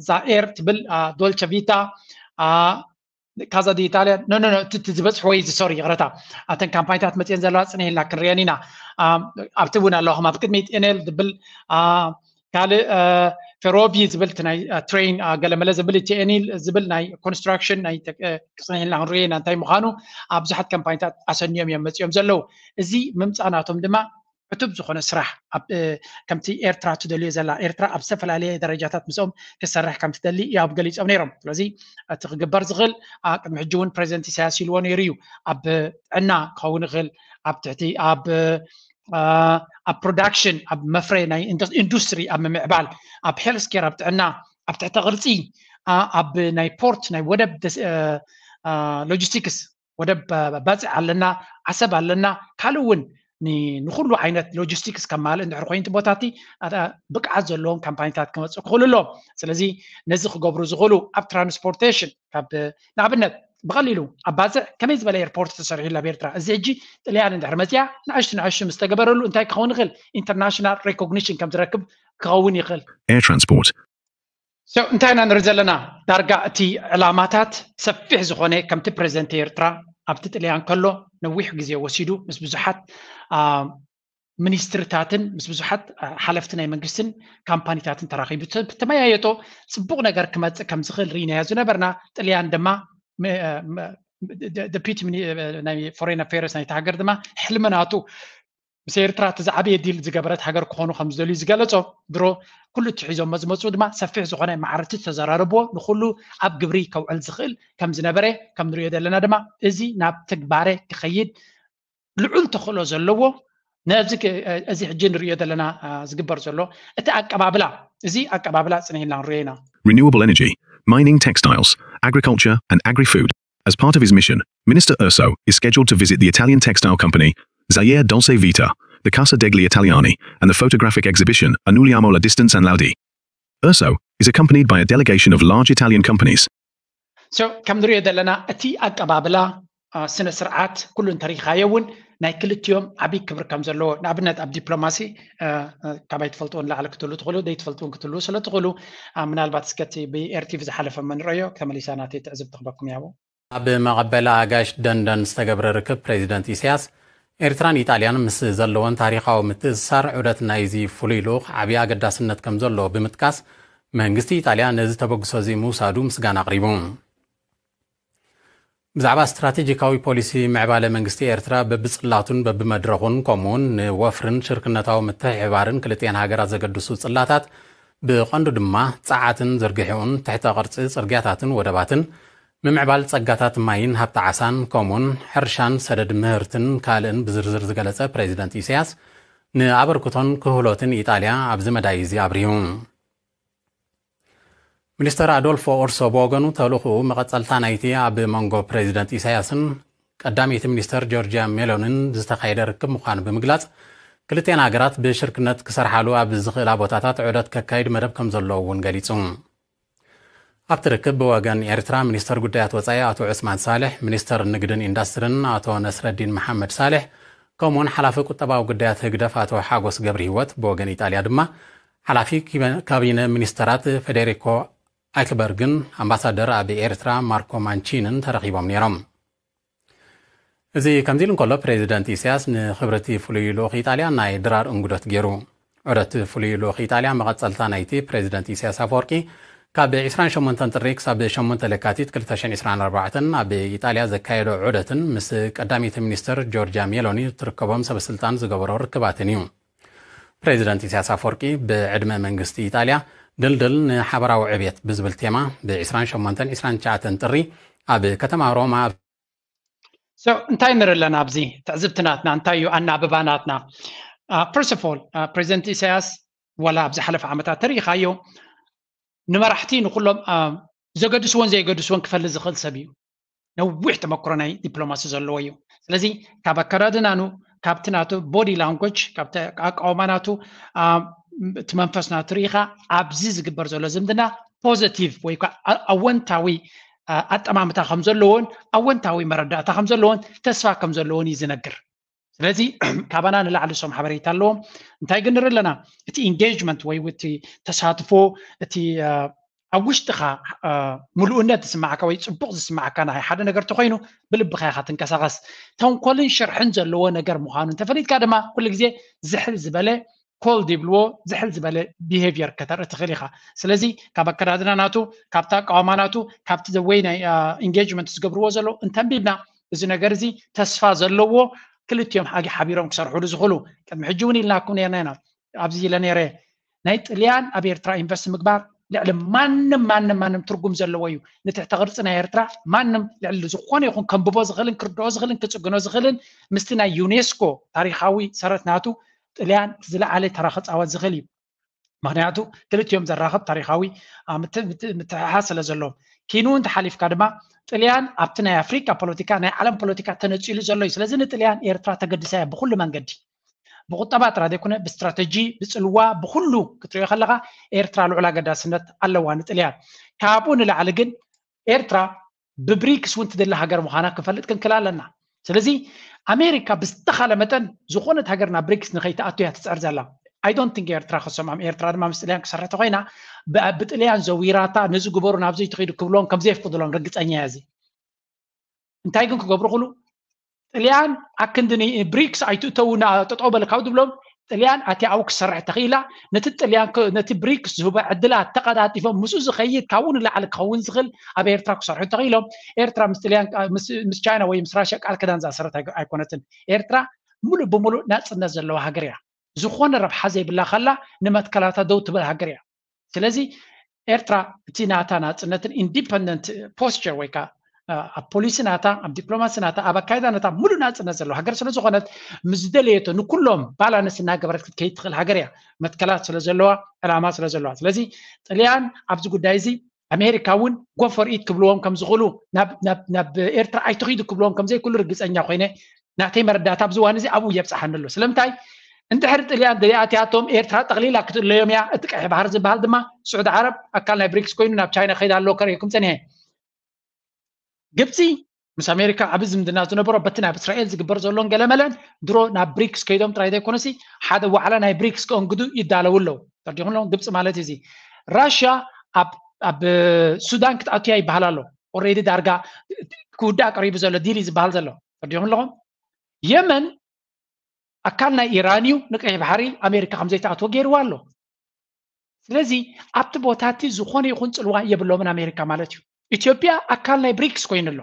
ዛኤር ትብል ዶልቸ ቪታ ካዛ ዲ ኢታልያ ኖ ኖ እቲ ዝበፅሕዎ እዩ ዝሶሪ ይቕረታ። ኣብተን ካምፓኒታት መፅየን ዘለዋ ፅንሕ ኢልና ክንሪአን ኢና። ኣብቲ እውን ኣለኹም ኣብ ቅድሚት ኤኔል ዝብል ካልእ ፌሮቢ ዝብል ናይ ትሬን ገለመለ ዝብል ቴኤኒል ዝብል ናይ ኮንስትራክሽን ናይ ፅንሕ ኢልና ክንሪኦ ኢና እንታይ ምዃኑ። ኣብ ብዙሓት ካምፓኒታት ኣሰንዮም እዮም መፅኦም ዘለዉ። እዚ ምምፃእ ናቶም ድማ ዕቱብ ዝኾነ ስራሕ ከምቲ ኤርትራ ትደልዮ ዘላ ኤርትራ ኣብ ዝተፈላለየ ደረጃታት ምስኦም ክሰርሕ ከም ትደሊ እዮም ገሊፆም ነይሮም። ስለዚ እቲ ክግበር ዝኽእል ቅድሚ ሕጂ እውን ፕሬዚደንት ኢሳያስ ኢልዎ ነይሩ እዩ። ኣብ ጥዕና ክኸውን ይኽእል፣ ኣብ ትሕቲ ኣብ ኣብ ፕሮዳክሽን ኣብ መፍረ ናይ ኢንዱስትሪ ኣብ ምምዕባል ኣብ ሄልስኬር ኣብ ጥዕና ኣብ ትሕተ ቅርፂ ኣብ ናይ ፖርት ናይ ወደብ ሎጂስቲክስ ወደብ ባፅዕ ኣለና፣ ዓሰብ ኣለና፣ ካልእ እውን ንኩሉ ዓይነት ሎጂስቲክስ ከማልእ እንድሕር ኮይኑ ቦታቲ ብቅዓት ዘለዎም ካምፓኒታት ክመፅእ ክኽእሉ ኣለዎም። ስለዚ ነዚ ክገብሩ ዝኽእሉ ኣብ ትራንስፖርቴሽን ካብ ንኣብነት ብቐሊሉ ኣብ ባፅዕ ከመይ ዝበለ ኤርፖርት ተሰሪሑሉ ኣብ ኤርትራ እዚ ሕጂ ጥልያን እንድሕር መፅያ ንኣሽቱ ንኣሽቱ ምስ ተገበረሉ እንታይ ክኸውን ይኽእል? ኢንተርናሽናል ሬኮግኒሽን ከም ዝረክብ ክኸውን ይኽእል። Air transport. So እንታይ ኢና ንርኢ ዘለና? ዳርጋ እቲ ዕላማታት ሰፊሕ ዝኾነ ከምቲ ፕሬዚደንት ኤርትራ ኣብቲ ጥልያን ከሎ ነዊሕ ግዜ ወሲዱ ምስ ብዙሓት ሚኒስትርታትን ምስ ብዙሓት ሓለፍቲ ናይ መንግስትን ካምፓኒታትን ተራኺቡ ተመያየጦ ፅቡቕ ነገር ክመፅእ ከም ዝኽእል ርኢናዮ ዝነበርና። ጥልያን ድማ ፒቲ ናይ ፎሬን ኣፌርስ ናይቲ ሃገር ድማ ሕልሚ ናቱ ምስ ኤርትራ እቲ ዝዓበየ ዲል ዝገበረት ሃገር ክኾኑ ከም ዝደልዩ ዝገለጾ ድሮ ኩሉ እቲ ሒዞሞ ዝመፁ ድማ ሰፊሕ ዝኾነ ማዕረቲ ዝተዘራረብዎ ንኩሉ ኣብ ግብሪ ከውዕል ዝኽእል ከም ዝነበረ ከም ንሪኦ ዘለና ድማ እዚ ናብ ትግባረ ክኸይድ ልዑል ተኽእሎ ዘለዎ ነዚ እዚ ሕጂ ንሪኦ ዘለና ዝግበር ዘሎ እቲ ኣቀባብላ እዚ ኣቀባብላ ፅንሕ ኢልና ንሪኦ ኢና። Renewable energy, mining, textiles, agriculture, and agri-food. As part of his mission, Minister Urso is scheduled to visit the Italian textile company Zayer Dolce Vita, the Casa degli Italiani, and the photographic exhibition Annuliamo la distanza in Lodi. Urso is accompanied by a delegation of large Italian companies. So ከም ንሪኦ ዘለና እቲ ኣቀባብላ ስነ ስርዓት ኩሉ እንተሪኻዮ እውን ናይ ክልቲኦም ዓብዪ ክብሪ ከም ዘለዎ ንኣብነት ኣብ ዲፕሎማሲ ካብ ኣይትፈልጥዎ ንላዕሊ ክትህሉ ትኽእሉ ዘይትፈልጥውን ክትህልዉ ስለ ትኽእሉ ምናልባት እስከ እቲ ብኤርቲቪ ዝሓለፈ መንረዮ ተመሊሳ ናተይ ትዕዝብ ትኽበኩም ያቦ። ኣብ መቐበሊ ኣጋይሽ ደንደን ዝተገብረ ርክብ ፕሬዚደንት ኢሳያስ፣ ኤርትራን ኢጣልያን ምስ ዘለወን ታሪኻዊ ምትእስሳር ዑደት ናይዚ ፍሉይ ልኡኽ ዓብዪ ኣገዳስነት ከም ዘሎ ብምጥቃስ፣ መንግስቲ ኢጣልያ ነዚ ተበግሶ እዚ ምውሳዱ ምስጋና ኣቕሪቡ። ብዛዕባ ስትራቴጂካዊ ፖሊሲ ምዕባለ መንግስቲ ኤርትራ በብጽላቱን በብመድረኹን ከምኡውን ንወፍርን ሽርክነታዊ ምትሕብባርን ክልቲኤን ሃገራት ዘገድሱ ጽላታት ብቐንዱ ድማ ጸዓትን ዝርግሒኡን ትሕተ ቅርጺ ጽርግያታትን ወደባትን ምምዕባል ጸጋታት ማይን ሃብቲ ዓሳን ከምኡን ሕርሻን ሰደድ ምህርትን ካልእን ብዝርዝር ዝገለጸ ፕሬዚደንት ኢሳያስ ንኣበርክቶን ክህሎትን ኢጣልያ ኣብዚ መዳይ እዚ ኣብሪሁ። ሚኒስተር ኣዶልፎ ኦርሶ ብወገኑ ተልእኽኡ መቐጸልታ ናይቲ ኣብ መንጎ ፕሬዚደንት ኢሳያስን ቀዳመይቲ ሚኒስተር ጆርጂያ ሜሎንን ዝተኻየደ ርክብ ምዃኑ ብምግላጽ ክልቲኤን ሃገራት ብሽርክነት ክሰርሓሉ ኣብ ዝኽእላ ቦታታት ዑደት ከካይድ መደብ ከም ዘለዎ እውን ገሊጹ። ኣብቲ ርክብ ብወገን ኤርትራ ሚኒስተር ጉዳያት ወጻኢ ኣቶ ዑስማን ሳልሕ፣ ሚኒስተር ንግድን ኢንዳስትርን ኣቶ ነስረዲን መሓመድ ሳልሕ ከምኡውን ሓላፊ ቁጠባዊ ጉዳያት ህግደፍ ኣቶ ሓጎስ ገብረ ህይወት፣ ብወገን ኢጣልያ ድማ ሓላፊ ካቢነ ሚኒስተራት ፌዴሪኮ ኣይክበርግን ኣምባሳደር ኣብ ኤርትራ ማርኮ ማንቺንን ተረኺቦም ነይሮም። እዚ ከምዚ ኢሉ እንከሎ ፕሬዚደንት ኢሳያስ ንክብርቲ ፍሉይ ልኡኽ ኢጣልያ ናይ ድራር እንጉደት ገይሩ። ዑደት ፍሉይ ልኡኽ ኢጣልያ መቐጸልታ ናይቲ ፕሬዚደንት ኢሳያስ ኣፈወርቂ ካብ ዕስራን ሸሞንተን ጥሪ ክሳብ ሸሞንተ ለካቲት ክልተ ሽሕን ዕስራን ኣርባዕተን ኣብ ኢጣልያ ዘካየዶ ዑደትን ምስ ቀዳመይቲ ሚኒስተር ጆርጂያ ሜሎኒ ትርከቦም ሰበስልጣን ዝገበሮ ርክባትን እዩ። ፕሬዚደንት ኢሳያስ ኣፈወርቂ ብዕድመ መንግስቲ ኢጣልያ ድልድል ንሓበራዊ ዕብየት ብዝብል ቴማ ብ ዕስራን ሸሞንተን ዕስራን ትሽዓተን ጥሪ ኣብ ከተማ ሮማ እንታይ ንርኢ ኣለና ኣብዚ ትዕዝብቲ ናትና እንታይ እዩ ኣናብባ ናትና? First of all ፕሬዚደንት ኢሳያስ ዋላ ኣብ ዝሓለፈ ዓመታት ተሪኢኻዮ ንመራሕቲ ንኩሎም ዘገድስዎን ዘይገድስዎን ክፈልጥ ዝኽእል ሰብ እዩ። ነዊሕ ተመክሮ ናይ ዲፕሎማሲ ዘለዎ እዩ። ስለዚ ካብ ኣከዳድናኑ ካብቲ ናቱ body language ካብቲ ኣቃውማ ናቱ እቲ መንፈስ ናቱ ርኢኻ ኣብዚ ዝግበር ዘሎ ዝምድና positive ወይ ኣወንታዊ ኣጠማምታ ከም ዘለዎን ኣወንታዊ መረዳእታ ከም ዘለዎን ተስፋ ከም ዘለዎን እዩ ዝነግር። ስለዚ ካባና ንላዕሊ እሶም ሓበሬታ ኣለዎም። እንታይ ግን ንርኢ ኣለና እቲ engagement ወይ እቲ ተሳትፎ እቲ ኣብ ውሽጥኻ ምሉእነት ዝስማዓካ ወይ ፅቡቅ ዝስማዓካ ናይ ሓደ ነገር ተኮይኑ ብልብኻ ኢኻ ትንቀሳቀስ። ተንኮልን ሽርሕን ዘለዎ ነገር ምዃኑ እንተፈሊጥካ ድማ ኩሉ ግዜ ዝሕል ዝበለ cold ይብልዎ ዝሕል ዝበለ behavior ከተርኢ ትኽእል ኢኻ። ስለዚ ካብ ኣከዳድና ናቱ ካብቲ ኣቃውማ ናቱ ካብቲ the way ናይ engagement ዝገብርዎ ዘለዉ እንተንቢብና እዚ ነገር እዚ ተስፋ ዘለዎ ክልቲኦም ሓቢሮም ክሰርሕሉ ዝኽእሉ ቅድሚ ሕጂ እውን ኢልናኩም ነርና ኢና ኣብዚ ኢለ ነይረ ናይ ጥልያን ኣብ ኤርትራ invest ምግባር ልዕሊ ማንም ማንም ማንም ትርጉም ዘለዎ እዩ። ንትሕተ ቅርፂ ናይ ኤርትራ ማንም ልዕሊ ዝኾነ ይኹን ከንብቦ ዝኽእልን ክርድኦ ዝኽእልን ክፅግኖ ዝኽእልን ምስቲ ናይ ዩኔስኮ ታሪኻዊ ሰረት ናቱ ጥልያን ዝለዓለ ተራ ክፃወት ዝኽእል እዩ። ምክንያቱ ክልቲኦም ዘራኽብ ታሪኻዊ ምትሕሓዝ ስለ ዘለዎም ኪኑ እንተሓሊፍካ ድማ ጥልያን ኣብቲ ናይ ኣፍሪካ ፖለቲካ ናይ ዓለም ፖለቲካ ተነፂሉ ዘሎ እዩ። ስለዚ ንጥልያን ኤርትራ ተገድሳ እያ ብኩሉ መንገዲ ብቁጠባ ጥራ ዘይኮነ ብስትራተጂ ብፅልዋ ብኩሉ ክትሪኦ ከለካ ኤርትራ ልዑል ኣገዳስነት ኣለዋ ንጥልያን። ካብኡ ንላዕሊ ግን ኤርትራ ብብሪክስ እውን ትደሊ ሃገር ምዃና ክንፈልጥ ክንክል ኣለና። ስለዚ ኣሜሪካ ብዝተኻለ መጠን ዝኾነት ሃገር ናብ ብሪክስ ንኸይትኣቱ እያ ትፅዕር ዘላ። I don't think ኤርትራ ክሰምዖም ኤርትራ ድማ ምስ ጥልያን ክሰርሕ ተኮይና ብጥልያን ዘዊራታ ነዚ ግበሩ ናብዚ ትኸይዱ ክብሎም ከምዘየፍቅድሎም ርግፀኛ እያ። እዚ እንታይ ግን ክገብሩ ክሉ ጥልያን ኣክንዲ ብሪክስ ኣይትእተውና ጠጠው በል ካብ ዝብሎም ጥልያን ኣትያ ኣብኡ ክሰርሕ ተኽኢላ ነቲ ጥልያን ነቲ ብሪክስ ዝህቦ ዕድላት ተቐጣጢፎም ምስኡ ዝኸይድ ካብኡ ንላዕሊ ክኸውን ዝኽእል ኣብ ኤርትራ ክሰርሑ ተኽኢሎም ኤርትራ ምስ ጥልያን ምስ ቻይና ወይ ምስ ራሽያ ቃል ክዳን ዝኣሰረት ኣይኮነትን። ኤርትራ ሙሉእ ብሙሉእ ናፅነት ዘለዋ ሃገር እያ። ዝኾነ ረብሓ ዘይብላ ከላ ንመትከላታ ደው ትብል ሃገር እያ። ስለዚ ኤርትራ እቲ ናታ ናፅነትን independent posture ወይ ከዓ ኣብ ፖሊሲ ናታ ኣብ ዲፕሎማሲ ናታ ኣብ ኣካይዳ ናታ ሙሉእ ናፅነት ዘለዎ ሃገር ስለዝኾነት ምስ ዝደለየቶ ንኩሎም ባላንስ እናገበረት ክትከይድ ትኽእል ሃገር እያ። መትከላት ስለዘለዋ ዕላማ ስለዘለዋ ስለዚ ጥልያን ኣብዚ ጉዳይ እዚ ኣሜሪካ እውን go for it ክብልዎም ከም ዝኽእሉ ናብ ኤርትራ ኣይትኺዱ ክብልዎም ከም ዘይክእሉ ርግፀኛ ኮይነ ናተይ መረዳእታ ኣብዚ እዋን እዚ ኣብኡ የብፅሓኒ ኣሎ። ስለምንታይ እንድሕር ጥልያን ደሊኣትያቶም ኤርትራ ጠቕሊላ ክትእለዮም እያ። እቲ ቀይሕ ባህር ዝበሃል ድማ ስዑዲ ዓረብ ኣካል ናይ ብሪክስ ኮይኑ ናብ ቻይና ከይዳ ኣለዎ ከርእየኩም ፀኒሐ። ግብፂ ምስ ኣሜሪካ ዓቢ ዝምድና ዝነበሮ በቲ ናብ እስራኤል ዝግበር ዘሎን ገለመለን ድሮ ናብ ብሪክስ ከይዶም ጥራይ ዘይኮነሲ ሓደ ዋዕላ ናይ ብሪክስ ከእንግዱ ይዳለዉ ኣለዉ። ተርዲኹም ኣለዉ ግብፂ ማለት እዚ ራሽያ ኣብ ሱዳን ክትኣቱያ ይበሃል ኣሎ። ኦሬዲ ዳርጋ ክውዳእ ቀሪቡ ዘሎ ዲል እዩ ዝበሃል ዘሎ። ፈርዲዮም ኣለኹም። የመን ኣካል ናይ ኢራን እዩ፣ ንቀይ ባሕሪ ኣሜሪካ ከም ዘይተኣትዎ ገይርዋ ኣሎ። ስለዚ ኣብቲ ቦታ እቲ ዝኾነ ይኹን ፅልዋ የብሎምን ኣሜሪካ ማለት እዩ። ኢትዮጵያ ኣካል ናይ ብሪክስ ኮይኑ ኣሎ።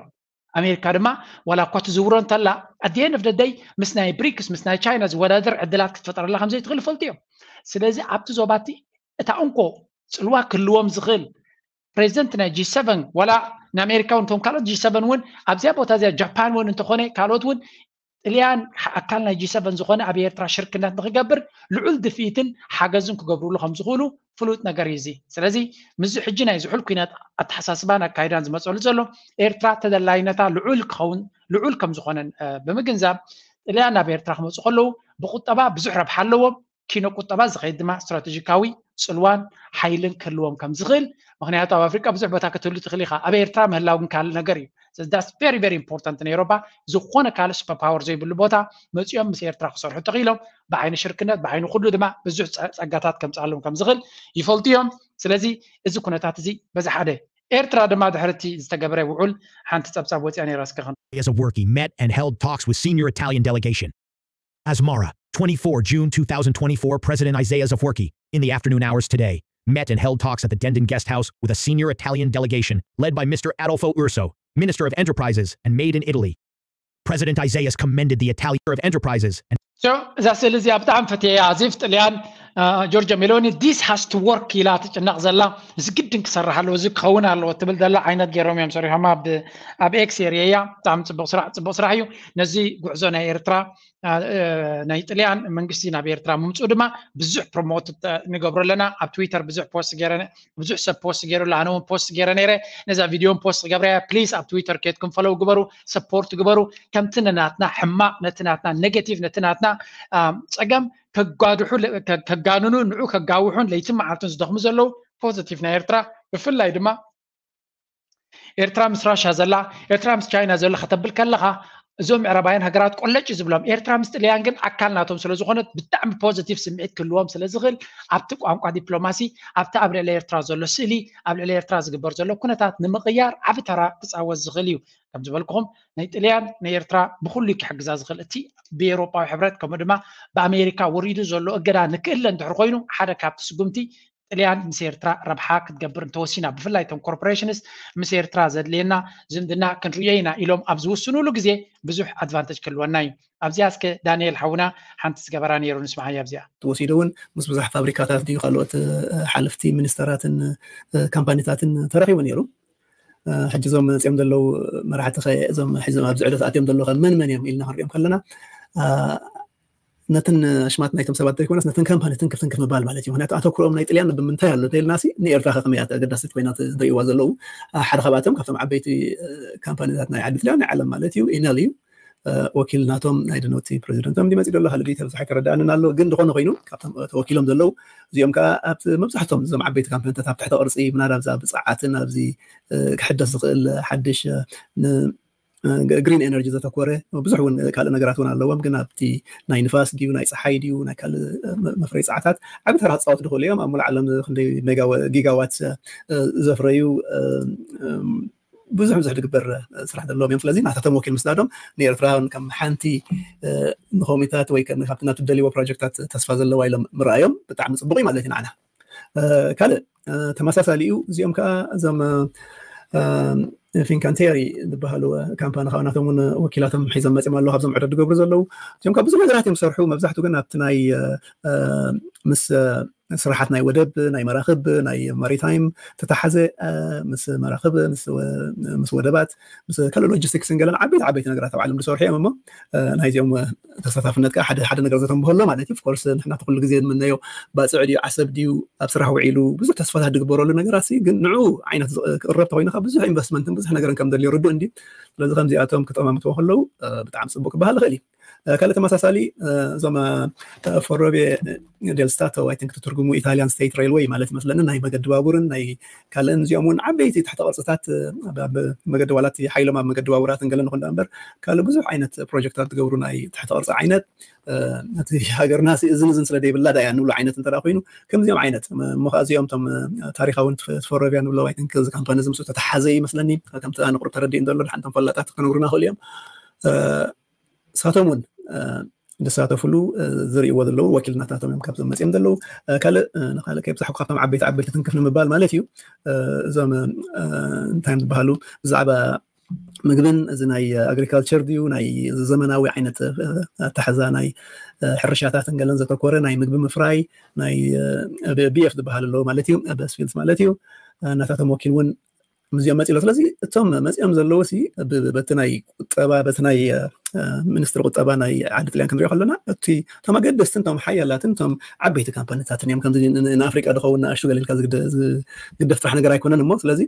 ኣሜሪካ ድማ ዋላ እኳ ትዝውሮ እንተላ ኣዲኤን ኦፍ ደይ ምስ ናይ ብሪክስ ምስ ናይ ቻይና ዝወዳደር ዕድላት ክትፈጠረላ ከም ዘይትኽእል ይፈልጡ እዮም። ስለዚ ኣብቲ ዞባ እቲ እታ እንኮ ፅልዋ ክህልዎም ዝኽእል ፕሬዚደንት ናይ ጂ ሰቨን ዋላ ንኣሜሪካ እውን እቶም ካልኦት ጂ ሰቨን እውን ኣብዚኣ ቦታ እዚኣ ጃፓን እውን እንተኾነ ካልኦት እውን ጥልያን ኣካል ናይ ጂ ሰቨን ዝኾነ ኣብ ኤርትራ ሽርክነት ንክገብር ልዑል ድፍኢትን ሓገዝን ክገብሩሉ ከም ዝኽእሉ ፍሉጥ ነገር እዩ እዚ። ስለዚ ምስዚ ሕጂ ናይ ዝሑል ኩናት ኣተሓሳስባን ኣካይዳን ዝመፀሉ ዘሎ ኤርትራ ተደላይነታ ልዑል ክኸውን ልዑል ከም ዝኾነን እ፣ ብምግንዛብ ጥልያን ናብ ኤርትራ ክመፁ ከለዉ ብቁጠባ ብዙሕ ረብሓ ኣለዎም። ኪኖ ቁጠባ ዝኸይድ ድማ ስትራቴጂካዊ ፅልዋን ሓይልን ክህልዎም ከም ዝኽእል። ምክንያቱ ኣብ ኣፍሪቃ ብዙሕ ቦታ ክትህሉ ትኽእል ኢኻ። ኣብ ኤርትራ ምህላው ግን ካልእ ነገር እዩ። ስለዚ that's very very important ንኤሮፓ ዝኾነ ካልእ ሱፐር ፓወር ዘይብሉ ቦታ መፂኦም ምስ ኤርትራ ክሰርሑ ተኽኢሎም ብዓይኒ ሽርክነት ብዓይኒ ኩሉ ድማ ብዙሕ ፀ- ፀጋታት ከምፅኣሎም ከም ዝኽእል ይፈልጡ እዮም። ስለዚ እዚ ኩነታት እዚ በዚ ሓደ ኤርትራ ድማ ድሕርቲ ዝተገበረ ውዑል ሓንቲ ፀብፃብ ወፂኣ ነይራ እስከ Isaias Afwerki met and held talks with senior Italian delegation. Asmara, twenty-four June two thousand twenty-four. President Isaias Afwerki, in the afternoon hours today, met and held talks at the Denden Guest House with a senior Italian delegation led by Mister Adolfo Urso, Minister of Enterprises and Made in Italy. President Isaias commended the Italian of Enterprises and So እዛ ስእሊ እዚኣ ብጣዕሚ ፈትየያ። ኣዚፍ ጥልያን ጆርጆ ሜሎኒ this has to work ኢላ ትጭነቕ ዘላ፣ እዚ ግድን ክሰርሕ ኣለዎ፣ እዚ ክኸውን ኣለዎ ትብል ዘላ ዓይነት ገይሮም እዮም ሰሪሖማ። ኣብ ኤክስ የርእየያ። ብጣዕሚ ፅቡቅ ስራሕ፣ ፅቡቅ ስራሕ እዩ። ነዚ ጉዕዞ ናይ ኤርትራ ናይ ጥልያን መንግስቲ ናብ ኤርትራ ምምፅኡ ድማ ብዙሕ ፕሮሞት ንገብሮ ኣለና። ኣብ ትዊተር ብዙሕ ፖስት ገይረ፣ ብዙሕ ሰብ ፖስት ገይሩ ኣሎ፣ ኣነ እውን ፖስት ገይረ ነይረ። ነዛ ቪድዮን ፖስት ገብረያ። ፕሊዝ ኣብ ትዊተር ኬድኩም ፈለው ግበሩ፣ ሰፖርት ግበሩ። ከምቲ ንናትና ሕማቕ፣ ነቲ ናትና ኔጌቲቭ፣ ነቲ ናትና ፀገም ከጋድሑ ከጋንኑ፣ ንዑ ከጋውሑን ለይትን መዓልቱን ዝደኽሙ ዘለዉ ፖዚቲቭ ናይ ኤርትራ፣ ብፍላይ ድማ ኤርትራ ምስ ራሻ ዘላ፣ ኤርትራ ምስ ቻይና ዘላ ከተብል ከለኻ እዞም ምዕራባውያን ሃገራት ቆለጭ ዝብሎም፣ ኤርትራ ምስ ጥልያን ግን ኣካል ናቶም ስለ ዝኾነት ብጣዕሚ ፖዚቲቭ ስምዒት ክህልዎም ስለ ዝኽእል ኣብቲ ቋንቋ ዲፕሎማሲ፣ ኣብቲ ኣብ ልዕሊ ኤርትራ ዘሎ ስእሊ፣ ኣብ ልዕሊ ኤርትራ ዝግበር ዘሎ ኩነታት ንምቕያር ዓቢ ተራ ክፃወት ዝኽእል እዩ። ከም ዝበልኩኹም ናይ ጥልያን ናይ ኤርትራ ብኹሉ ክሕግዛ ዝኽእል እቲ ብኤውሮጳዊ ሕብረት ከምኡ ድማ ብኣሜሪካ ወሪዱ ዘሎ እገዳ ንክእለ እንድሕር ኮይኑ ሓደ ካብቲ ስጉምቲ ጥልያን ምስ ኤርትራ ረብሓ ክትገብር እንተወሲና፣ ብፍላይ እቶም ኮርፖሬሽንስ ምስ ኤርትራ ዘድልየና ዝምድና ክንርእዮ ኢና ኢሎም ኣብ ዝውስኑሉ ግዜ ብዙሕ ኣድቫንተጅ ክህልወና እዩ። ኣብዚኣ እስከ ዳንኤል ሓውና ሓንቲ ዝገበራ ነይሩ ንስምዓያ። ኣብዚኣ ተወሲዱ እውን ምስ ብዙሕ ፋብሪካታት ድዩ ካልኦት ሓለፍቲ ሚኒስተራትን ካምፓኒታትን ተረኺቡ ነይሩ። ሕጂ እዞም መፅኦም ዘለዉ መራሕቲ ከ እዞም ሕዞም ኣብዚ ዕለት ኣትዮም ዘለዉ ከ መን መን እዮም ኢልና ክንሪኦም ከለና ነትን ኣሽማት ናይቶም ሰባት ዘይኮነስ ነተን ካምፓኒ ትንክፍ ትንክፍ ምባል ማለት እዩ። ምክንያቱ ኣተኩሮኦም ናይ ጥልያን ብምንታይ ኣሎ ተይልናሲ ንኤርትራ ከመይ እያ ኣገዳሲት ኮይና ዝርእይዋ ዘለዉ ሓደ ካብኣቶም ካብቶም ዓበይቲ ካምፓኒታት ናይ ዓዲ ጥልያን ናይ ዓለም ማለት እዩ ኢነል እዩ። ወኪል ናቶም ናይ ደነውቲ ፕሬዚደንቶም እንዲመፂ ዘሎ ካልእ ዲቴል ብዙሕ ኣይተረዳእንን ኣሎ። ግን ዝኾነ ኮይኑ ካብቶም ተወኪሎም ዘለዉ እዚኦም ከዓ ኣብቲ መብዛሕቶም እዞም ዓበይቲ ካምፓኒታት ኣብ ትሕቲ ቅርፂ ምናልባት ኣብዛ ብፅዓትን ኣብዚ ክሕደስ ዝኽእል ሓድሽ ግሪን ኤነርጂ ዘተኮረ ብዙሕ እውን ካልእ ነገራት እውን ኣለዎም። ግን ኣብቲ ናይ ንፋስ ድዩ ናይ ፀሓይ ድዩ ናይ ካልእ መፍረይ ፀዓታት ዓቢ ተራ ክፃወቱ ዝኽእሉ እዮም። ኣብ ሙሉእ ዓለም ክንደይ ጊጋዋት ዘፍረዩ ብዙሕ ብዙሕ ዝግበር ስራሕ ዘለዎም እዮም። ስለዚ ናታቶም ወኪል ምስዳዶም ንኤርትራ ከም ሓንቲ ንኮሚታት ወይ ካብቲ ናብ ትደልይዎ ፕሮጀክታት ተስፋ ዘለዋ ኢሎም ምርኣዮም ብጣዕሚ ፅቡቅ እዩ ማለት እዩ ንዓና። ካልእ ተመሳሳሊ እዩ። እዚኦም ከዓ እዞም ፊንካንቴሪ ዝበሃሉ ካምፓኒ ከዓ ናቶም እውን ወኪላቶም ሒዞም መፅኦም ኣለዉ ካብዞም ዕደት ዝገብሩ ዘለዉ። እዚኦም ከዓ ብዙሕ ነገራት እዮም ዝሰርሑ። መብዛሕትኡ ግን ኣብቲ ናይ ምስ ስራሓት ናይ ወደብ ናይ መራኽብ ናይ ማሪታይም ተተሓዘ ምስ መራኽብ ምስ ወደባት ምስ ካልእ ሎጂስቲክስን ገለን ዓበይቲ ዓበይቲ ነገራት ኣብ ዓለም ዝሰርሑ እዮም። እሞ ናይዚኦም ተሳታፍነት ከዓ ሓደ ሓደ ነገር ዘተንብሆ ኣሎ ማለት እዩ። ኦፍኮርስ ንሕና ኩሉ ግዜ ንምነዮ ባፅዕ ድዩ ዓሰብ ድዩ ኣብ ስራሕ ውዒሉ ብዙሕ ተስፋታት ዝግበረሉ ነገራት ግን ንዑ ዓይነት ክቅረብ ተኮይኑ ብዙሕ ኢንቨስትመንትን ብዙሕ ነገርን ከም ዘድልዮ ርዱእ እንዲ። ስለዚ ከምዚኣቶም ክጠማምትዎ ከለዉ ብጣዕሚ ፅቡቅ ክበሃል ይኽእል እዩ። ካልእ ተመሳሳሊ እዞም ፈሮቤ ዴል ስታቶ፣ ኣይ ቲንክ ትርጉሙ ኢታሊያን ስቴት ሬልወይ ማለት መስለኒ፣ ናይ መገዲ ባቡርን ናይ ካልእን እዚኦም እውን ዓበይቲ ትሕተ ቅርፅታት ኣብ መገዲ ዋላቲ ሓይሎም ኣብ መገዲ ባቡራትን ገለን ንኹን እምበር ካልእ ብዙሕ ዓይነት ፕሮጀክታት ዝገብሩ ናይ ትሕተ ቅርፂ ዓይነት እቲ ሃገርና እዝን እዝን ስለ ደይብላ ዳያ ንብሎ ዓይነት እንተ ኮይኑ ከምዚኦም ዓይነት እሞ እዚኦም ቶም ታሪካውን ፈሮቢያ ንብሎ ኣይ ቲንክ እዚ ካምፓኒ እዚ ምስ ተተሓዘ ይመስለኒ ከምቲ ኣነ ቁሩብ ተረዲእ እንተሎ ሓንቶም ፈላጣት ክነግሩና ክእሉ እዮም። ሳቶም እውን ዝሳተፍሉ ዝርእዎ ዘለዉ ወኪልናታቶም እዮም ካብዞም መፅኦም ዘለዉ። ካልእ ንካልእ ከይብዛሕኩ ካብቶም ዓበይቲ ዓበይቲ ትንክፍ ንምባል ማለት እዩ። እዞም እንታይ ዝበሃሉ ብዛዕባ ምግብን እዚ ናይ ኣግሪካልቸር ድዩ ናይ ዘመናዊ ዓይነት ኣተሓዛ ናይ ሕርሻታትን ገለን ዘተኮረ ናይ ምግቢ ምፍራይ ናይ ቢኤፍ ዝበሃል ኣለዎ ማለት እዩ፣ በስፊልስ ማለት እዩ። ናታቶም ወኪል እውን ምስዚኦም መፂ ኣሎ። ስለዚ እቶም መፂኦም ዘለዉ ሲ በቲ ናይ ቁጠባ በቲ ናይ ሚኒስትሪ ቁጠባ ናይ ዓዲ ጥልያን ክንሪኦ ከለና እቲ እቶም ኣገደስትን እቶም ሓያላትን እቶም ዓበይቲ ካምፓኒታትን እዮም። ከምዚ ንኣፍሪቃ ዝኸውን ንኣሽቱ ገለ ኢልካ ዝግደፍ ጥራሕ ነገር ኣይኮነን እሞ ስለዚ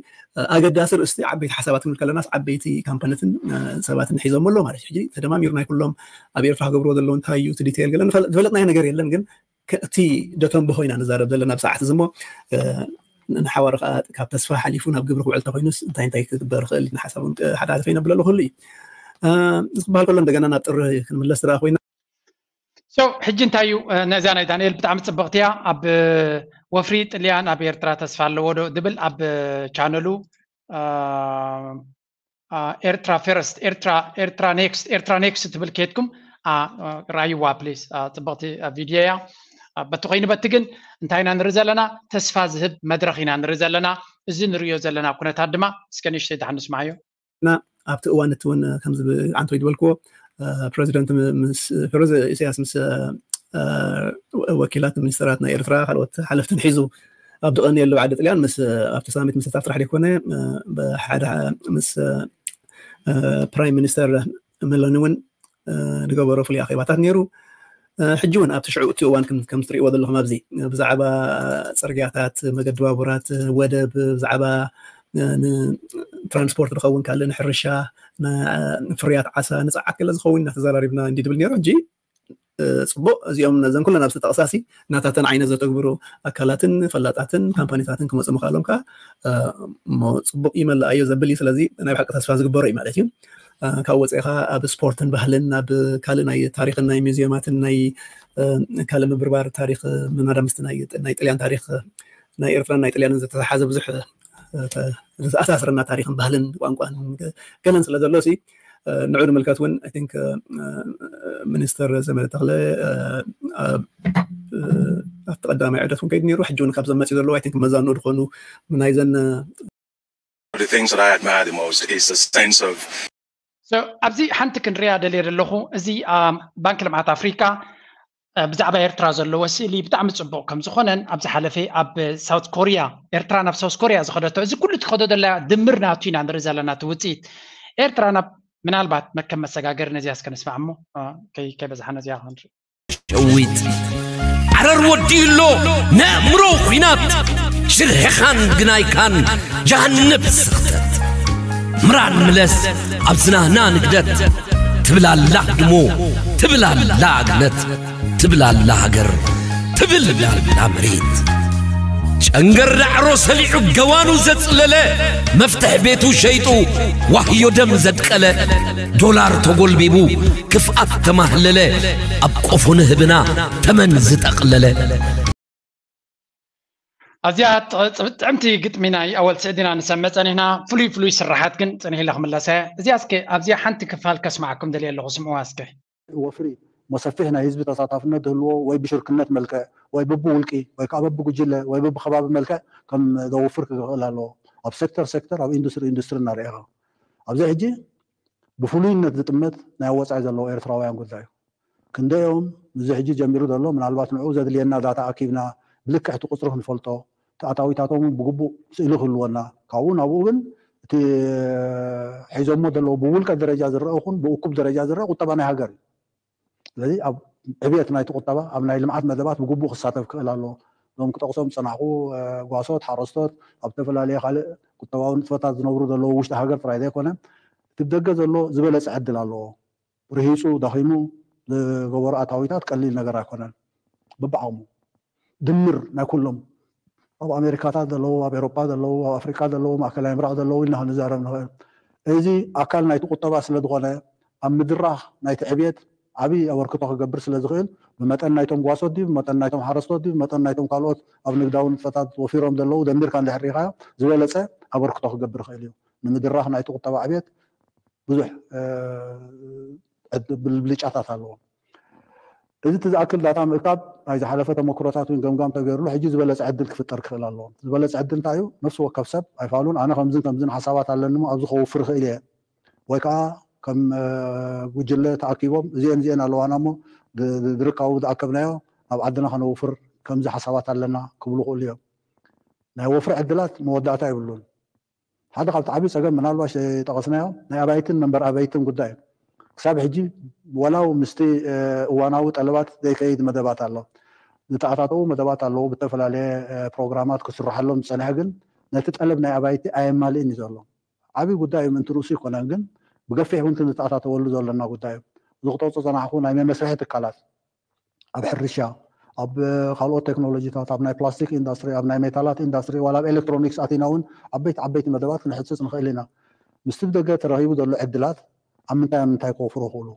ኣገዳሲ ርእስቲ ዓበይቲ ሓሳባት ክንብል ከለናስ ዓበይቲ ካምፓኒትን ሰባትን ሒዞም ኣለዉ ማለት እዩ። ሕጂ ተደማሚሩ ናይ ኩሎም ኣብ ኤርትራ ክገብርዎ ዘለዉ እንታይ እዩ እቲ ዲቴይል ገለ ዝፈለጥናዮ ነገር የለን ግን እቲ ደቶም ብኮይና ንዛረብ ዘለና ብሰዓት እዚ እሞ ንሓዋሩ ከዓ ካብ ተስፋ ሓሊፉ ናብ ግብሪ ክውዕል ተኮይኑስ እንታይ እንታይ ክግበር ክእል ሓሳብ ሓደ ሓደ ኮይነ ብለሉ ክህሉ እዩ። ዝበሃል ከሎ እንደገና ናብ ጥሪ ክንምለስ ዝረኣ ኮይና ሕጂ እንታይ እዩ ነዚኣ ናይ ዳንኤል ብጣዕሚ ፅብቕቲ እያ። ኣብ ወፍሪ ጥልያን ኣብ ኤርትራ ተስፋ ኣለዎ ዶ ዝብል ኣብ ቻነሉ ኤርትራ ፈርስት ኤርትራ ኤርትራ ኔክስት ኤርትራ ኔክስት ትብል ከድኩም ራይዋ ፕሊስ። ፅብቕቲ ቪድዮ እያ። በቲ ኮይኑ በቲ ግን እንታይ ኢና ንርኢ ዘለና? ተስፋ ዝህብ መድረኽ ኢና ንርኢ ዘለና። እዚ ንርእዮ ዘለና ኩነታት ድማ እስከ ንእሽተይ ደሓን ንስማዓዮ። እና ኣብቲ እዋን እቲ እውን ከምዚ ዓንቶ ዝበልክዎ ፕሬዚደንት ምስ ፕሬዚደንት ኢሳያስ ምስ ወኪላት ሚኒስትራት ናይ ኤርትራ ካልኦት ሓለፍትን ሒዙ ኣብ ድቐኒ የለው ዓዲ ጥልያን ምስ ኣብቲ ሳሚት ምስታፍ ጥራሕ ዘይኮነ ብሓደ ምስ ፕራይም ሚኒስተር መሎኒ እውን ዝገበሮ ፍሉይ ኣኼባታት ነይሩ። ሕጂ እውን ኣብቲ ሽዑ እቲ እዋን ከም ትሪእዎ ዘለኹም ኣብዚ ብዛዕባ ፅርግያታት፣ መገዲ ባቡራት፣ ወደብ፣ ብዛዕባ ንትራንስፖርት ዝኸውን ካልእ ንሕርሻ፣ ፍርያት ዓሳ፣ ንፀዓት ገለ ዝኸውን እናተዘራሪብና እንዲ ድብል ነይሩ። ሕጂ ፅቡቕ እዚኦም ነዘን ኩለን ኣብዚ ተጠቕሳሲ ናታተን ዓይነት ዘተግብሩ ኣካላትን ፈላጣትን ካምፓኒታትን ክመፁ ምኽኣሎም ከዓ እሞ ፅቡቕ ይመላኣዮ ዘብል እዩ። ስለዚ ናይ ብሓቂ ተስፋ ዝግበሮ እዩ ማለት እዩ። ካብ ወፂእኻ ኣብ ስፖርትን ባህልን ኣብ ካልእ ናይ ታሪክን ናይ ሚዚየማትን ናይ ካልእ ምብርባር ታሪክ መናዳ ምስቲ ናይ ጥልያን ታሪክ ናይ ኤርትራን ናይ ጥልያንን ዝተተሓዘ ብዙሕ ዝተኣሳስረና ታሪክን ባህልን ቋንቋን ገለን ስለ ዘሎ ሲ ንዑ ንምልከት እውን ኣይ ቲንክ ሚኒስተር ዘመደ ተኽለ ኣብቲ ቀዳማይ ዕደት እውን ከይዱ ነይሩ። ሕጂ እውን ካብዞም መፅኡ ዘለዉ ኣይ ቲንክ መዛንኡ ዝኾኑ ናይዘን ኣብዚ ሓንቲ ክንሪያ ደልየ ዘለኹ እዚ ባንክ ልምዓት ኣፍሪካ ብዛዕባ ኤርትራ ዘለዎ ስእሊ ብጣዕሚ ፅቡቕ ከም ዝኾነን ኣብ ዝሓለፈ ኣብ ሳውት ኮሪያ ኤርትራ ናብ ሳውት ኮሪያ ዝኸደቶ እዚ ኩሉ ትኸዶ ዘላ ድምር ናቱ ኢና ንርኢ ዘለና እቲ ውፅኢት ኤርትራ ናብ ምናልባት መከም መሰጋገሪ ነዚያ እስከ ንስማዕ እሞ ከይበዝሓ ነዚያ ክንርኢ ሸዊት ዓረር ወዲኡ ኣሎ ነእምሮ ኲናት ሽርሕኻን ግናይካን ጃሃንብ ስኽተት ምራን ምለስ ኣብ ዝናህና ንግደት ትብላላ ህድሞ ትብላላ ኣግነት ትብላላ ሃገር ትብላላ መሬት ጨንገር ዳዕሮ ሰሊዑ ገዋኑ ዘጽለለ መፍትሕ ቤቱ ሸይጡ ዋህዮ ደም ዘድቀለ ዶላር ተጎልቢቡ ክፍኣት ተማህለለ ኣብ ቆፎ ንህብና ተመን ዝጠቕለለ ኣዝያ ጥዕምቲ ግጥሚ ናይ ኣወል ስዕዲና ንሰምዕ ጸኒሕና። ፍሉይ ፍሉይ ስራሓት ግን ጽንሕ ኢለ ክምለሰ። እዚኣ እስከ ኣብዚኣ ሓንቲ ክፋል ከስማዓኩም ደልየ ኣለኹ፣ ስምዕዋ እስከ። ወፍሪ መሰፊሕ ናይ ህዝቢ ተሳታፍነት ዝህልዎ ወይ ብሽርክነት መልክዕ ወይ ብብውልቂ ወይ ከዓ በብጉጅለ ወይ በብከባቢ መልክዕ ከም ዘውፍር ክኽእል ኣለዎ። ኣብ ሴክተር ሴክተር ኣብ ኢንዱስትሪ ኢንዱስትሪ እናርኤኻ ኣብዚ ሕጂ ብፍሉይነት ዝጥመት ናይ ወፃኢ ዘለዉ ኤርትራውያን ጉዳይ እዩ። ክንደዮም እዚ ሕጂ ጀሚሩ ዘሎ ምናልባት ንዕኡ ዘድልየና ዳታ ኣኪብና ብልክዕ እቲ ቁፅሪ ክንፈልጦ እቲ ኣታዊታቶም እውን ብግቡእ ስእሊ ክህልወና ካብኡ ናብኡ ግን እቲ ሒዞሞ ዘለዉ ብውልቀ ደረጃ ዝረአ ይኹን ብእኩብ ደረጃ ዝረአ ቁጠባ ናይ ሃገር እዩ። ስለዚ ኣብ ዕብየት ናይቲ ቁጠባ ኣብ ናይ ልምዓት መደባት ብግቡእ ክሳተፍ ክኽእል ኣለዎ። እዞም ክጠቕሶም ዝፀናሕኩ ጓሶት፣ ሓረስቶት፣ ኣብ ዝተፈላለየ ካልእ ቁጠባዊ ንጥፈታት ዝነብሩ ዘለዉ ውሽጢ ሃገር ጥራይ ዘይኮነ እቲ ብደገ ዘሎ ዝበለፀ ዕድል ኣለዎ። ርሂፁ፣ ደኺሙ፣ ዝገበሩ ኣታዊታት ቀሊል ነገር ኣይኮነን። ብብዓቕሙ ድምር ናይ ኩሎም ኣብ ኣሜሪካታት ዘለዉ፣ ኣብ ኤሮጳ ዘለዉ፣ ኣብ ኣፍሪቃ ዘለዉ፣ ማእከላይ ምብራቕ ዘለዉ ኢልና ክንዛረብ ንኽእል። እዚ ኣካል ናይቲ ቁጠባ ስለ ዝኾነ ኣብ ምድራኽ ናይቲ ዕብየት ዓብዪ ኣበርክቶ ክገብር ስለ ዝኽእል ብመጠን ናይቶም ጓሶት ድዩ፣ ብመጠን ናይቶም ሓረስቶት ድዩ፣ ብመጠን ናይቶም ካልኦት ኣብ ንግዳዊ ንጥፈታት ወፊሮም ዘለዉ ደሚርካ እንድሕር ርኢኻዮ ዝበለጸ ኣበርክቶ ክገብር ይኽእል እዩ። ንምድራኽ ናይቲ ቁጠባ ዕብየት ብዙሕ ብልጫታት ኣለዎ። እዚ እቲ ዝኣክል ዳታ ምእካብ ናይ ዝሓለፈ ተመክሮታት እውን ገምጋም ተገይርሉ ሕጂ ዝበለፀ ዕድል ክፍጠር ክኽእል ኣለዎ። ዝበለፀ ዕድል እንታይ እዩ? ነፍሲ ወከፍ ሰብ ኣይፋሉን ኣነ ከምዝን ከምዝን ሓሳባት ኣለኒ እሞ ኣብዚ ከውፍር ይኽእል እየ ወይ ከዓ ከም ጉጅለ ተኣኪቦም እዚአን እዚአን ኣለዋና እሞ ዝርካቡ ዝኣከብናዮ ናብ ዓድና ከነውፍር ከምዚ ሓሳባት ኣለና ክብሉ ይኽእሉ እዮም። ናይ ወፍሪ ዕድላት መወዳእታ የብሉን። ሓደ ካብቲ ዓብዪ ፀገም ምናልባሽ ጠቐስናዮ ናይ ኣባይትን መንበር ኣባይትን ጉዳይ እዩ። ክሳብ ሕጂ ወላው ምስቲ እዋናዊ ጠለባት ዘይከይድ መደባት ኣሎ። ዝተኣታተዉ መደባት ኣለዉ። ብተፈላለየ ፕሮግራማት ክስርሓሎም ዝፀንሐ ግን ነቲ ጠለብ ናይ ኣባይቲ ኣየማልእን እዩ ዘሎ። ዓብዪ ጉዳይ እዩ ምእንቲ ርእሱ ይኮነን ግን ብገፊሕ እውን ክንተኣታተወሉ ዘለና ጉዳይ እዩ። እዚ ክጠቕሶ ዝፀናሕኩ ናይ መመስርሒ ትካላት ኣብ ሕርሻ፣ ኣብ ካልኦት ቴክኖሎጂታት፣ ኣብ ናይ ፕላስቲክ ኢንዳስትሪ፣ ኣብ ናይ ሜታላት ኢንዳስትሪ ዋላ ኣብ ኤሌክትሮኒክስ ኣቲና እውን ዓበይቲ ዓበይቲ መደባት ክንሕፅፅ ንኽእል ኢና። ምስቲ ብደገ ተረኺቡ ዘሎ ዕድላት ኣብ ምንታይ ኣብ ምንታይ ክወፍሩ ይኽእሉ?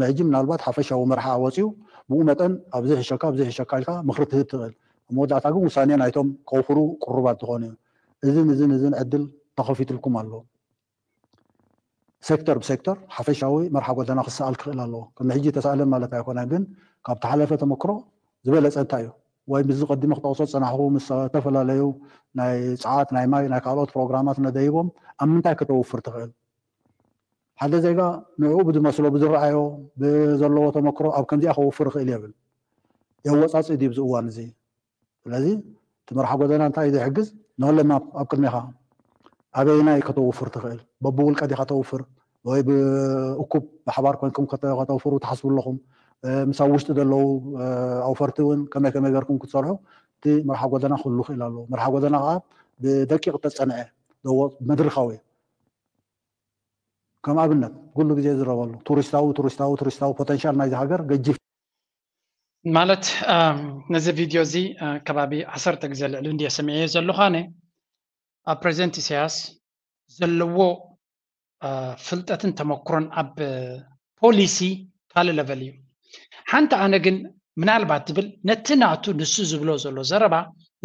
ሕጂ ምናልባት ሓፈሻዊ መርሓ ወፂኡ ብኡ መጠን ኣብዚ ሕሸካ ኣብዚ ሕሸካ ኢልካ ምኽሪ ትህብ ትኽእል። ኣብ መወዳእታ ግን ውሳኔ ናይቶም ከውፍሩ ቅሩባት ዝኾኑ እዩ። እዝን እዝን እዝን ዕድል ተኸፊትልኩም ኣሎ። ሴክተር ብሴክተር ሓፈሻዊ መርሓ ጎደና ክሰኣል ክኽእል ኣለዎ። ቅድሚ ሕጂ ተሳእለ ማለት ኣይኮነን፣ ግን ካብ ተሓለፈ ተመክሮ ዝበለፀ እንታይ እዩ ወይ ምስዚ ቀዲመ ክጠቕሶ ዝፀናሕኹ ምስ ዝተፈላለዩ ናይ ፀዓት ናይ ማይ ናይ ካልኦት ፕሮግራማት ነደይቦም ኣብ ምንታይ ከተውፍር ትኽእል ሓደ ዜጋ ንዕኡ ብዝመስሎ ብዝረኣዮ ብዘለዎ ተመክሮ ኣብ ከምዚኣ ከውፍር ይኽእል የብል የወፃፅእ ድዩ ብዚ እዋን እዚ ስለዚ እቲ መርሓ ጎደና እንታይ እዩ ዝሕግዝ ንክለማ ኣብ ቅድሜኻ ኣበይናይ ከተውፍር ትኽእል በብውልቀ ዲኻ ተውፍር ወይ ብእኩብ ብሓባር ኮንኩም ከተውፍሩ ትሓስቡ ኣለኹም ምስ ኣብ ውሽጢ ዘለዉ ኣውፈርቲ እውን ከመይ ከመይ ገርኩም ክትሰርሑ እቲ መርሓ ጎደና ክህሉ ክእል ኣለዎ መርሓ ጎደና ከዓ ብደቂቕ ተፀንዐ መድርኻዊ ከም ኣብነት ኩሉ ግዜ ዝረበሉ ቱሪስታዊ ቱሪስታዊ ቱሪስታዊ ፖቴንሻል ናይዚ ሃገር ገጂፍ ማለት ነዚ ቪድዮ እዚ ከባቢ ዓሰርተ ግዜ ልዕሊ እንድየ ሰሚዐዮ ዘለኹ ኣነ ኣብ ፕሬዚደንት ኢሳያስ ዘለዎ ፍልጠትን ተመክሮን ኣብ ፖሊሲ ካልእ ለቨል እዩ ሓንቲ ኣነ ግን ምናልባት ትብል ነቲ ናቱ ንሱ ዝብሎ ዘሎ ዘረባ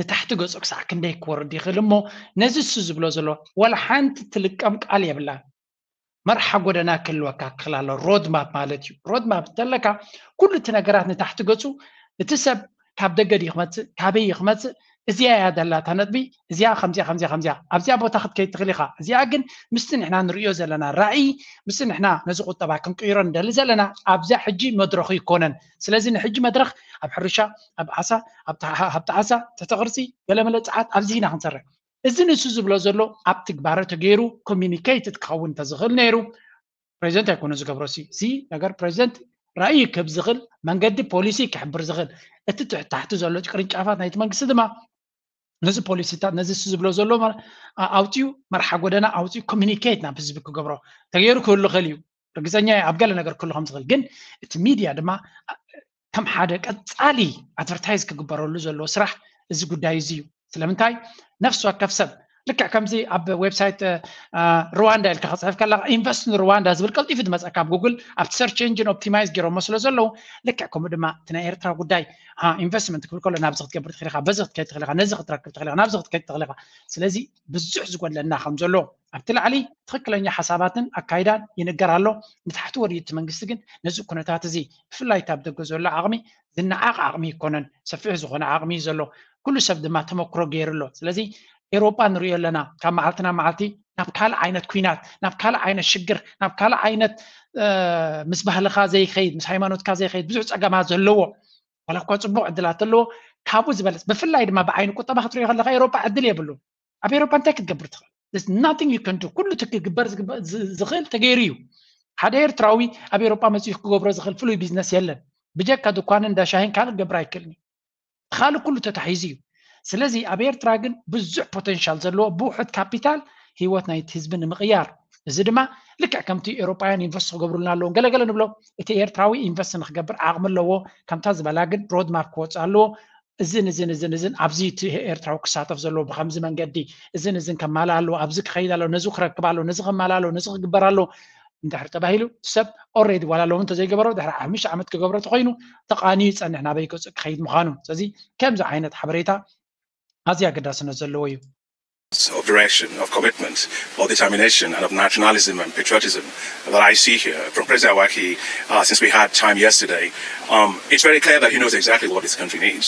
ንታሕቲ ገጹ ክሳዕ ክንደይ ክወርድ ይኽእል እሞ ነዚ እሱ ዝብሎ ዘሎ ወላ ሓንቲ ትልቀም ቃል የብላን መርሓ ጎደና ክህልወካ ክኽእል ኣሎ ሮድማፕ ማለት እዩ ሮድማፕ እንተለካ ኩሉ እቲ ነገራት ንታሕቲ ገጹ እቲ ሰብ ካብ ደገ ድዩ ክመጽእ ካበይ እዩ ክመጽእ እዚኣ እያ ደላታ ነጥቢ እዚኣ ከምዚኣ ከምዚኣ ከምዚኣ ኣብዚኣ ቦታ ክትከይድ ትኽእል ኢኻ እዚኣ ግን ምስቲ ንሕና ንርእዮ ዘለና ራእይ ምስቲ ንሕና ነዚ ቁጠባ ክንቅይሮ ንደሊ ዘለና ኣብዚኣ ሕጂ መድረኹ ይኮነን ስለዚ ንሕጂ መድረኽ ኣብ ሕርሻ ኣብ ዓሳ ኣብ ተዓሳ ትሕቲ ቅርፂ ገለመለ ፀዓት ኣብዚ ኢና ክንሰርሕ እዚ ንሱ ዝብሎ ዘሎ ኣብ ትግባረ ተገይሩ ኮሚኒኬትድ ክኸውን እንተዝኽእል ነይሩ ፕሬዚደንት ኣይኮነ ዝገብሮ ሲ እዚ ነገር ፕሬዚደንት ራእዩ ክህብ ዝኽእል መንገዲ ፖሊሲ ክሕብር ዝኽእል እቲ ትሕታሕቲ ዘሎ ቅርንጫፋት ናይቲ መንግስቲ ድማ ነዚ ፖሊሲታት ነዚ ሱ ዝብሎ ዘሎ ኣውፅኡ መርሓ ጎደና ኣውፅኡ ኮሚኒኬት ናብ ህዝቢ ክገብሮ ተገይሩ ክህሉ ክእል እዩ ርግፀኛ ኣብ ገለ ነገር ክህሉ ከም ዝኽእል ግን እቲ ሚድያ ድማ ከም ሓደ ቀፃሊ ኣድቨርታይዝ ክግበረሉ ዘለዎ ስራሕ እዚ ጉዳይ እዚ እዩ ስለምንታይ ነፍሲ ወከፍ ሰብ ልክዕ ከምዚ ኣብ ዌብሳይት ሩዋንዳ ኢልካ ክፅሕፍ ከለካ ኢንቨስት ንሩዋንዳ ዝብል ቀልጢፉ ዝመፀካ ኣብ ጉግል ኣብቲ ሰርች ኤንጂን ኦፕቲማይዝ ገይሮሞ ስለ ዘለዉ ልክዕ ከምኡ ድማ እቲ ናይ ኤርትራ ጉዳይ ኢንቨስትመንት ክብል ከሎ ናብዚ ክትገብር ትኽእል ኢኻ በዚ ክትከይድ ትኽእል ኢኻ ነዚ ክትረክብ ትኽእል ኢኻ ናብዚ ክትከይድ ትኽእል ኢኻ ስለዚ ብዙሕ ዝጎድለና ከም ዘሎ ኣብቲ ላዕሊ ትኽክለኛ ሓሳባትን ኣካይዳን ይንገር ኣሎ ንታሕቲ ወሪዱ እቲ መንግስቲ ግን ነዚ ኩነታት እዚ ብፍላይ ካብ ደገ ዘሎ ዓቕሚ ዝነዓቕ ዓቕሚ ይኮነን ሰፊሕ ዝኾነ ዓቕሚ እዩ ዘሎ ኩሉ ሰብ ድማ ተመክሮ ገይሩ ኣሎ ስለዚ ኤሮጳ ንሪኦ ኣለና ካብ መዓልቲ ናብ መዓልቲ ናብ ካልእ ዓይነት ኩናት ናብ ካልእ ዓይነት ሽግር ናብ ካልእ ዓይነት ምስ ባህልኻ ዘይኸይድ ምስ ሃይማኖትካ ዘይኸይድ ብዙሕ ፀገማት ዘለዎ ዋላ እኳ ፅቡቅ ዕድላት ኣለዎ ካብኡ ዝበለፅ ብፍላይ ድማ ብዓይኒ ቁጠባ ክትሪኦ ከለካ ኤሮጳ ዕድል የብሉ ኣብ ኤሮጳ እንታይ ክትገብር ትኽእል nothing you can do ኩሉ ትክግበር ዝኽእል ተገይሩ እዩ ሓደ ኤርትራዊ ኣብ ኤሮጳ መፅኡ ክገብሮ ዝኽእል ፍሉይ ቢዝነስ የለን ብጀካ ድኳንን ዳሻሂን ካልእ ክገብር ኣይክእልን እዩ ካልእ ኩሉ ተታሒዙ እዩ ስለዚ ኣብ ኤርትራ ግን ብዙሕ ፖቴንሻል ዘለዎ ብውሑድ ካፒታል ህይወት ናይቲ ህዝቢ ንምቕያር እዚ ድማ ልክዕ ከምቲ ኤውሮጳውያን ኢንቨስት ክገብሩልና ኣለዎም ገለገለ ንብሎ፣ እቲ ኤርትራዊ ኢንቨስት ንክገብር ዓቕሚ ኣለዎ። ከምታ ዝበላ ግን ሮድማፕ ክወፅእ ኣለዎ። እዝን እዝን እዝን እዝን ኣብዚ እቲ ኤርትራዊ ክሳተፍ ዘለዎ ብከምዚ መንገዲ እዝን እዝን ከማልእ ኣለዎ፣ ኣብዚ ክኸይድ ኣለዎ፣ ነዚ ክረክብ ኣለዎ፣ ነዚ ከማልእ ኣለዎ፣ ነዚ ክግበር ኣለዎ እንድሕር ተባሂሉ ሰብ ኦሬዲ ዋላ ሎም እንተዘይገበሮ ድሕሪ ሓሙሽተ ዓመት ክገብሮ ተኮይኑ ተቃንዩ ይፀንሕ ናበይ ገፁ ክኸይድ ምዃኑ። ስለዚ ከምዚ ዓይነት ሓበሬታ ኣዝያ ኣገዳስነት ዘለዎ እዩ። Of direction, of commitment, of determination, and of nationalism and patriotism that I see here from President Awaki uh, since we had time yesterday. Um, it's very clear that he knows exactly what this country needs.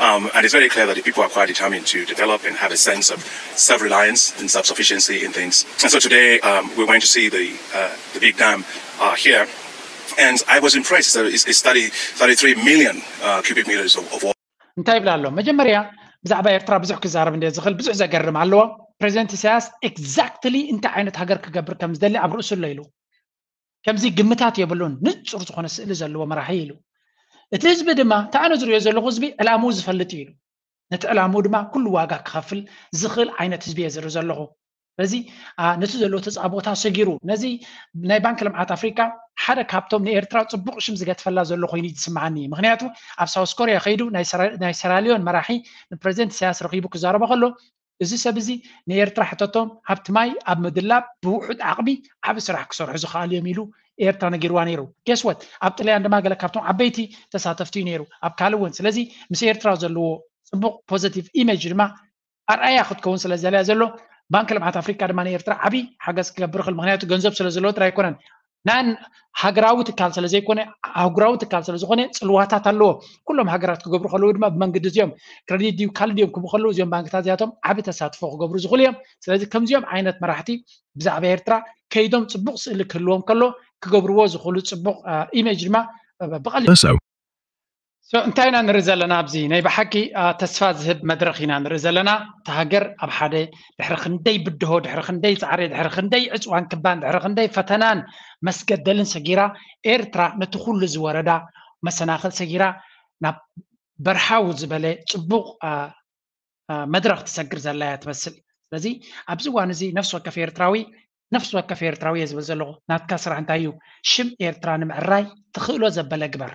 Um, and it's very clear that the people are quite determined to develop and have a sense of self-reliance and self-sufficiency in things. And so today um, we're going to see the, uh, the big dam uh, here. And I was impressed. It's, it's thirty, thirty-three million uh, cubic meters of, of water. እንታይ ይብላ ኣሎ? መጀመርያ ብዛዕባ ኤርትራ ብዙሕ ክዛረብ እንደ ዝኽእል ብዙሕ ዘገርም ኣለዎ። ፕሬዚደንት ኢሳያስ ኤግዛክትሊ እንታይ ዓይነት ሃገር ክገብር ከም ዝደሊ ኣብ ርእሱ ኣሎ ኢሉ። ከምዚ ግምታት የብሉን፣ ንጹር ዝኾነ ስእሊ ዘለዎ መራሒ ኢሉ። እቲ ህዝቢ ድማ፣ እቲ ኣነ ዝሪኦ ዘለኹ ህዝቢ ዕላምኡ ዝፈልጥ እዩ ኢሉ። ነቲ ዕላምኡ ድማ ኩሉ ዋጋ ክኸፍል ዝኽእል ዓይነት ህዝቢ እየ ዝርኢ ዘለኹ። ስለዚ ነቲ ዘለዎ ተፃቦታ ሰጊሩ፣ ነዚ ናይ ባንክ ልምዓት ኣፍሪካ ሓደ ካብቶም ንኤርትራ ፅቡቕ ሽም ዝገትፈላ ዘሎ ኮይኑ እዩ ዝስምዓኒ። ምክንያቱ ኣብ ሳውስ ኮርያ ከይዱ ናይ ሰራሊዮን መራሒ ንፕሬዚደንት ኢሳያስ ረኺቡ ክዛረቦ ከሎ፣ እዚ ሰብ እዚ ንኤርትራ ሕተቶም፣ ሃብቲ ማይ ኣብ ምድላብ ብውሑድ ዓቕሚ ዓቢ ስራሕ ክሰርሑ ዝኽኣሉ እዮም ኢሉ ኤርትራ ነጊርዋ ነይሩ። ጌስወት ኣብ ጥልያን ድማ ገለ ካብቶም ዓበይቲ ተሳተፍቲ እዩ ነይሩ፣ ኣብ ካልእ እውን። ስለዚ ምስ ኤርትራ ዘለዎ ፅቡቕ ፖዘቲቭ ኢሜጅ ድማ ኣርኣያ ክትከውን ስለ ዘልያ ዘሎ፣ ባንክ ልምዓት ኣፍሪካ ድማ ንኤርትራ ዓብዪ ሓገዝ ክገብር ይኽእል። ምክንያቱ ገንዘብ ስለ ዘለዎ ጥራይ ኣይኮነን፣ ናን ሃገራዊ ትካል ስለ ዘይኮነ፣ ኣህጉራዊ ትካል ስለ ዝኾነ ፅልዋታት ኣለዎ። ኩሎም ሃገራት ክገብሩ ከለዉ ድማ ብመንገዲ እዚኦም ክረዲት ድዩ ካልእ ድዮም ክቡ ከለዉ እዚኦም ባንክታት እዚኣቶም ዓቢ ተሳትፎ ክገብሩ ዝኽእሉ እዮም። ስለዚ ከምዚኦም ዓይነት መራሕቲ ብዛዕባ ኤርትራ ከይዶም ፅቡቕ ስእሊ ክህልዎም ከሎ ክገብርዎ ዝኽእሉ ፅቡቕ ኢሜጅ ድማ ብቐሊሉ እንታይ ኢና ንርኢ ዘለና ኣብዚ ናይ ብሓቂ ተስፋ ዝህብ መድረኽ ኢና ንርኢ ዘለና። እታ ሃገር ኣብ ሓደ ድሕሪ ክንደይ ብድሆ ድሕሪ ክንደይ ፃዕሪ ድሕሪ ክንደይ ዕፅዋን ክባን ድሕሪ ክንደይ ፈተናን መስገደልን ሰጊራ ኤርትራ ነቲ ኩሉ ዝወረዳ መሰናኽል ሰጊራ ናብ በርሃው ዝበለ ፅቡቕ መድረኽ ትሰግር ዘላ እያ ትመስል። ስለዚ ኣብዚ እዋን እዚ ነፍሲ ወከፍ ኤርትራዊ ነፍሲ ወከፍ ኤርትራዊ እየ ዝብል ዘለኹ። ናትካ ስራሕ እንታይ እዩ? ሽም ኤርትራ ንምዕራይ ትኽእሎ ዘበለ ግበር።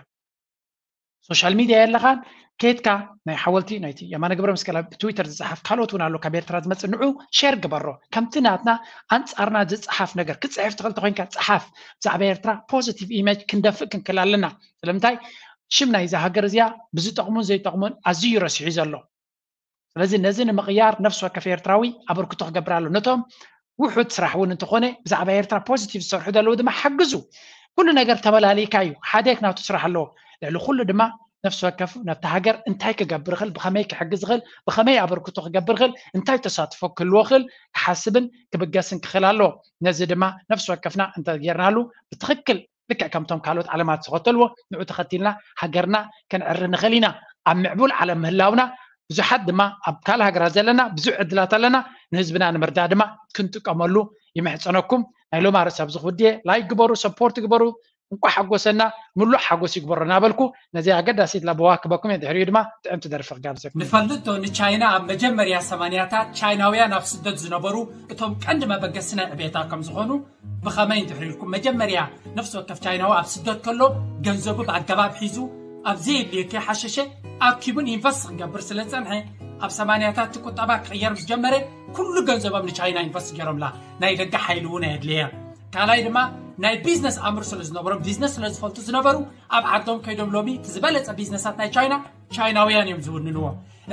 ሶሻል ሚድያ የለኻን ከይድካ ናይ ሓወልቲ ናይቲ የማነ ገብረ መስቀል ኣብ ትዊተር ዝፀሓፍ ካልኦት እውን ኣሎ ካብ ኤርትራ ዝመፅእ ንዑ ሼር ግበሮ። ከምቲ ናትና ኣንፃርና ዝፀሓፍ ነገር ክትፅሕፍ ትኽእል ተኮይንካ ፀሓፍ። ብዛዕባ ኤርትራ ፖዚቲቭ ኢሜጅ ክንደፍእ ክንክእል ኣለና። ስለምንታይ ሽም ናይዛ ሃገር እዚኣ ብዝጠቕሙን ዘይጠቕሙን ኣዝዩ ረሲሑ ዘሎ። ስለዚ ነዚ ንምቕያር ነፍሲ ወከፍ ኤርትራዊ ኣበርክቶ ክገብር ኣሎ። ነቶም ውሑድ ስራሕ እውን እንተኾነ ብዛዕባ ኤርትራ ፖዚቲቭ ዝሰርሑ ዘለዉ ድማ ሓግዙ። ኩሉ ነገር ተመላሊእካ እዩ። ሓደ ናቱ ስራሕ ኣለዎ። ልዕሊ ኩሉ ድማ ነፍሲ ወከፍ ነብቲ ሃገር እንታይ ክገብር ይኽእል፣ ብኸመይ ክሕግዝ ይኽእል፣ ብኸመይ ኣበርክቶ ክገብር ይኽእል፣ እንታይ ተሳትፎ ክህልዎ ይኽእል ክሓስብን ክብገስን ክኽእል ኣለዎ። ነዚ ድማ ነፍሲ ወከፍና እንተጌርናሉ ብትኽክል ልክዕ ከምቶም ካልኦት ዓለማት ዝኸተልዎ ንዑ ተኸቲልና ሃገርና ከነዕሪ ንኽእል ኢና። ኣብ ምዕቡል ዓለም ምህላውና ብዙሓት ድማ ኣብ ካልእ ሃገራት ዘለና ብዙሕ ዕድላት ኣለና። ንህዝብና ንምርዳእ ድማ ክንጥቀመሉ ይምሕጸነኩም። ናይ ሎማ ርእሲ ኣብዚ ክውድየ ላይክ ግበሩ፣ ሰፖርት ግበሩ። እንቋ ሓጎሰና ምሉእ ሓጎስ ይግበሮ እናበልኩ ነዚ ኣገዳሲት ላበዋ ክበኩም እየ። ድሕሪኡ ድማ ጥዕምቲ ደርፊ ክጋብዘኩም። ንፈልጥ ዶ ንቻይና ኣብ መጀመርያ ሰማንያታት ቻይናውያን ኣብ ስደት ዝነበሩ እቶም ቀንዲ መበገሲ ናይ ዕቤታ ከም ዝኾኑ ብኸመይ እንድሕር ኢልኩም መጀመርያ ነፍሲ ወከፍ ቻይናዊ ኣብ ስደት ከሎ ገንዘቡ ብኣገባብ ሒዙ ኣብ ዘየድልዮ ከይሓሸሸ ኣኪቡን ኢንቨስት ክገብር ስለ ዝጸንሐ ኣብ ሰማንያታት እቲ ቁጠባ ክቕየር ምስ ጀመረ ኩሉ ገንዘቦም ንቻይና ኢንቨስት ገይሮምላ ናይ ደገ ሓይሊ እውን ኣየድልየ ካልኣይ ድማ ናይ ቢዝነስ ኣምር ስለ ዝነበሮም ቢዝነስ ስለ ዝፈልጡ ዝነበሩ ኣብ ዓዶም ከይዶም ሎሚ እቲ ዝበለጸ ቢዝነሳት ናይ ቻይና ቻይናውያን እዮም ዝውንንዎ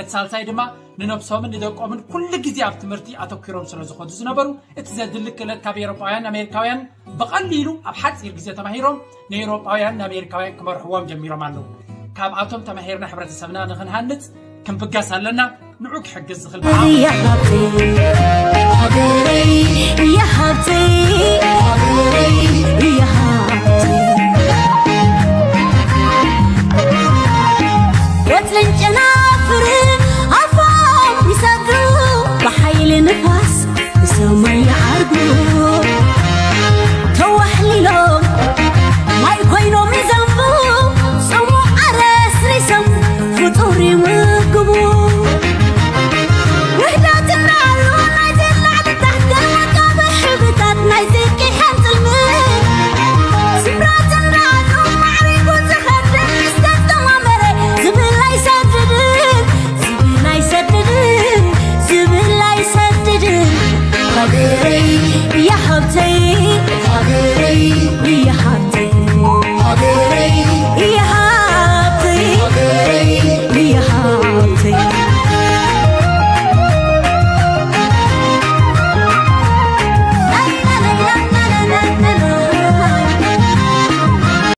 እቲ ሳልሳይ ድማ ንነብሶምን ንደቆምን ኩሉ ግዜ ኣብ ትምህርቲ ኣተኲሮም ስለ ዝኾዱ ዝነበሩ እቲ ዘድሊ ክእለት ካብ ኤሮጳውያን ኣሜሪካውያን ብቐሊሉ ኣብ ሓፂር ግዜ ተማሂሮም ንኤሮጳውያን ንኣሜሪካውያን ክመርሕዎም ጀሚሮም ኣለዉ። ካብኣቶም ተማሂርና ሕብረተሰብና ንኽንሃንፅ ክንብገስ ኣለና። ንዑ ክሕግዝ ዝኽእል ብዓቕሚ ይሃብቲ ሃገረይ ይሃብቲ ሃገረይ ይሃብቲ ቆፅልን ጨናፍርን ኣፎም ይሰግሩ ብሓይሊ ንፋስ ብሰማይ ይዓርጉ ተዋሕሊሎም ማይ ኮይኖም ይዘንቡ ፅሙቕ ኣረስሪሶም ፍጡር ይምግቡ ውሕዳትና ኣሎ ናይ ዘላዕሊ ታሕቲ መቃብሕ ሕብታት ናይ ዝቂ እያ ሓብተይ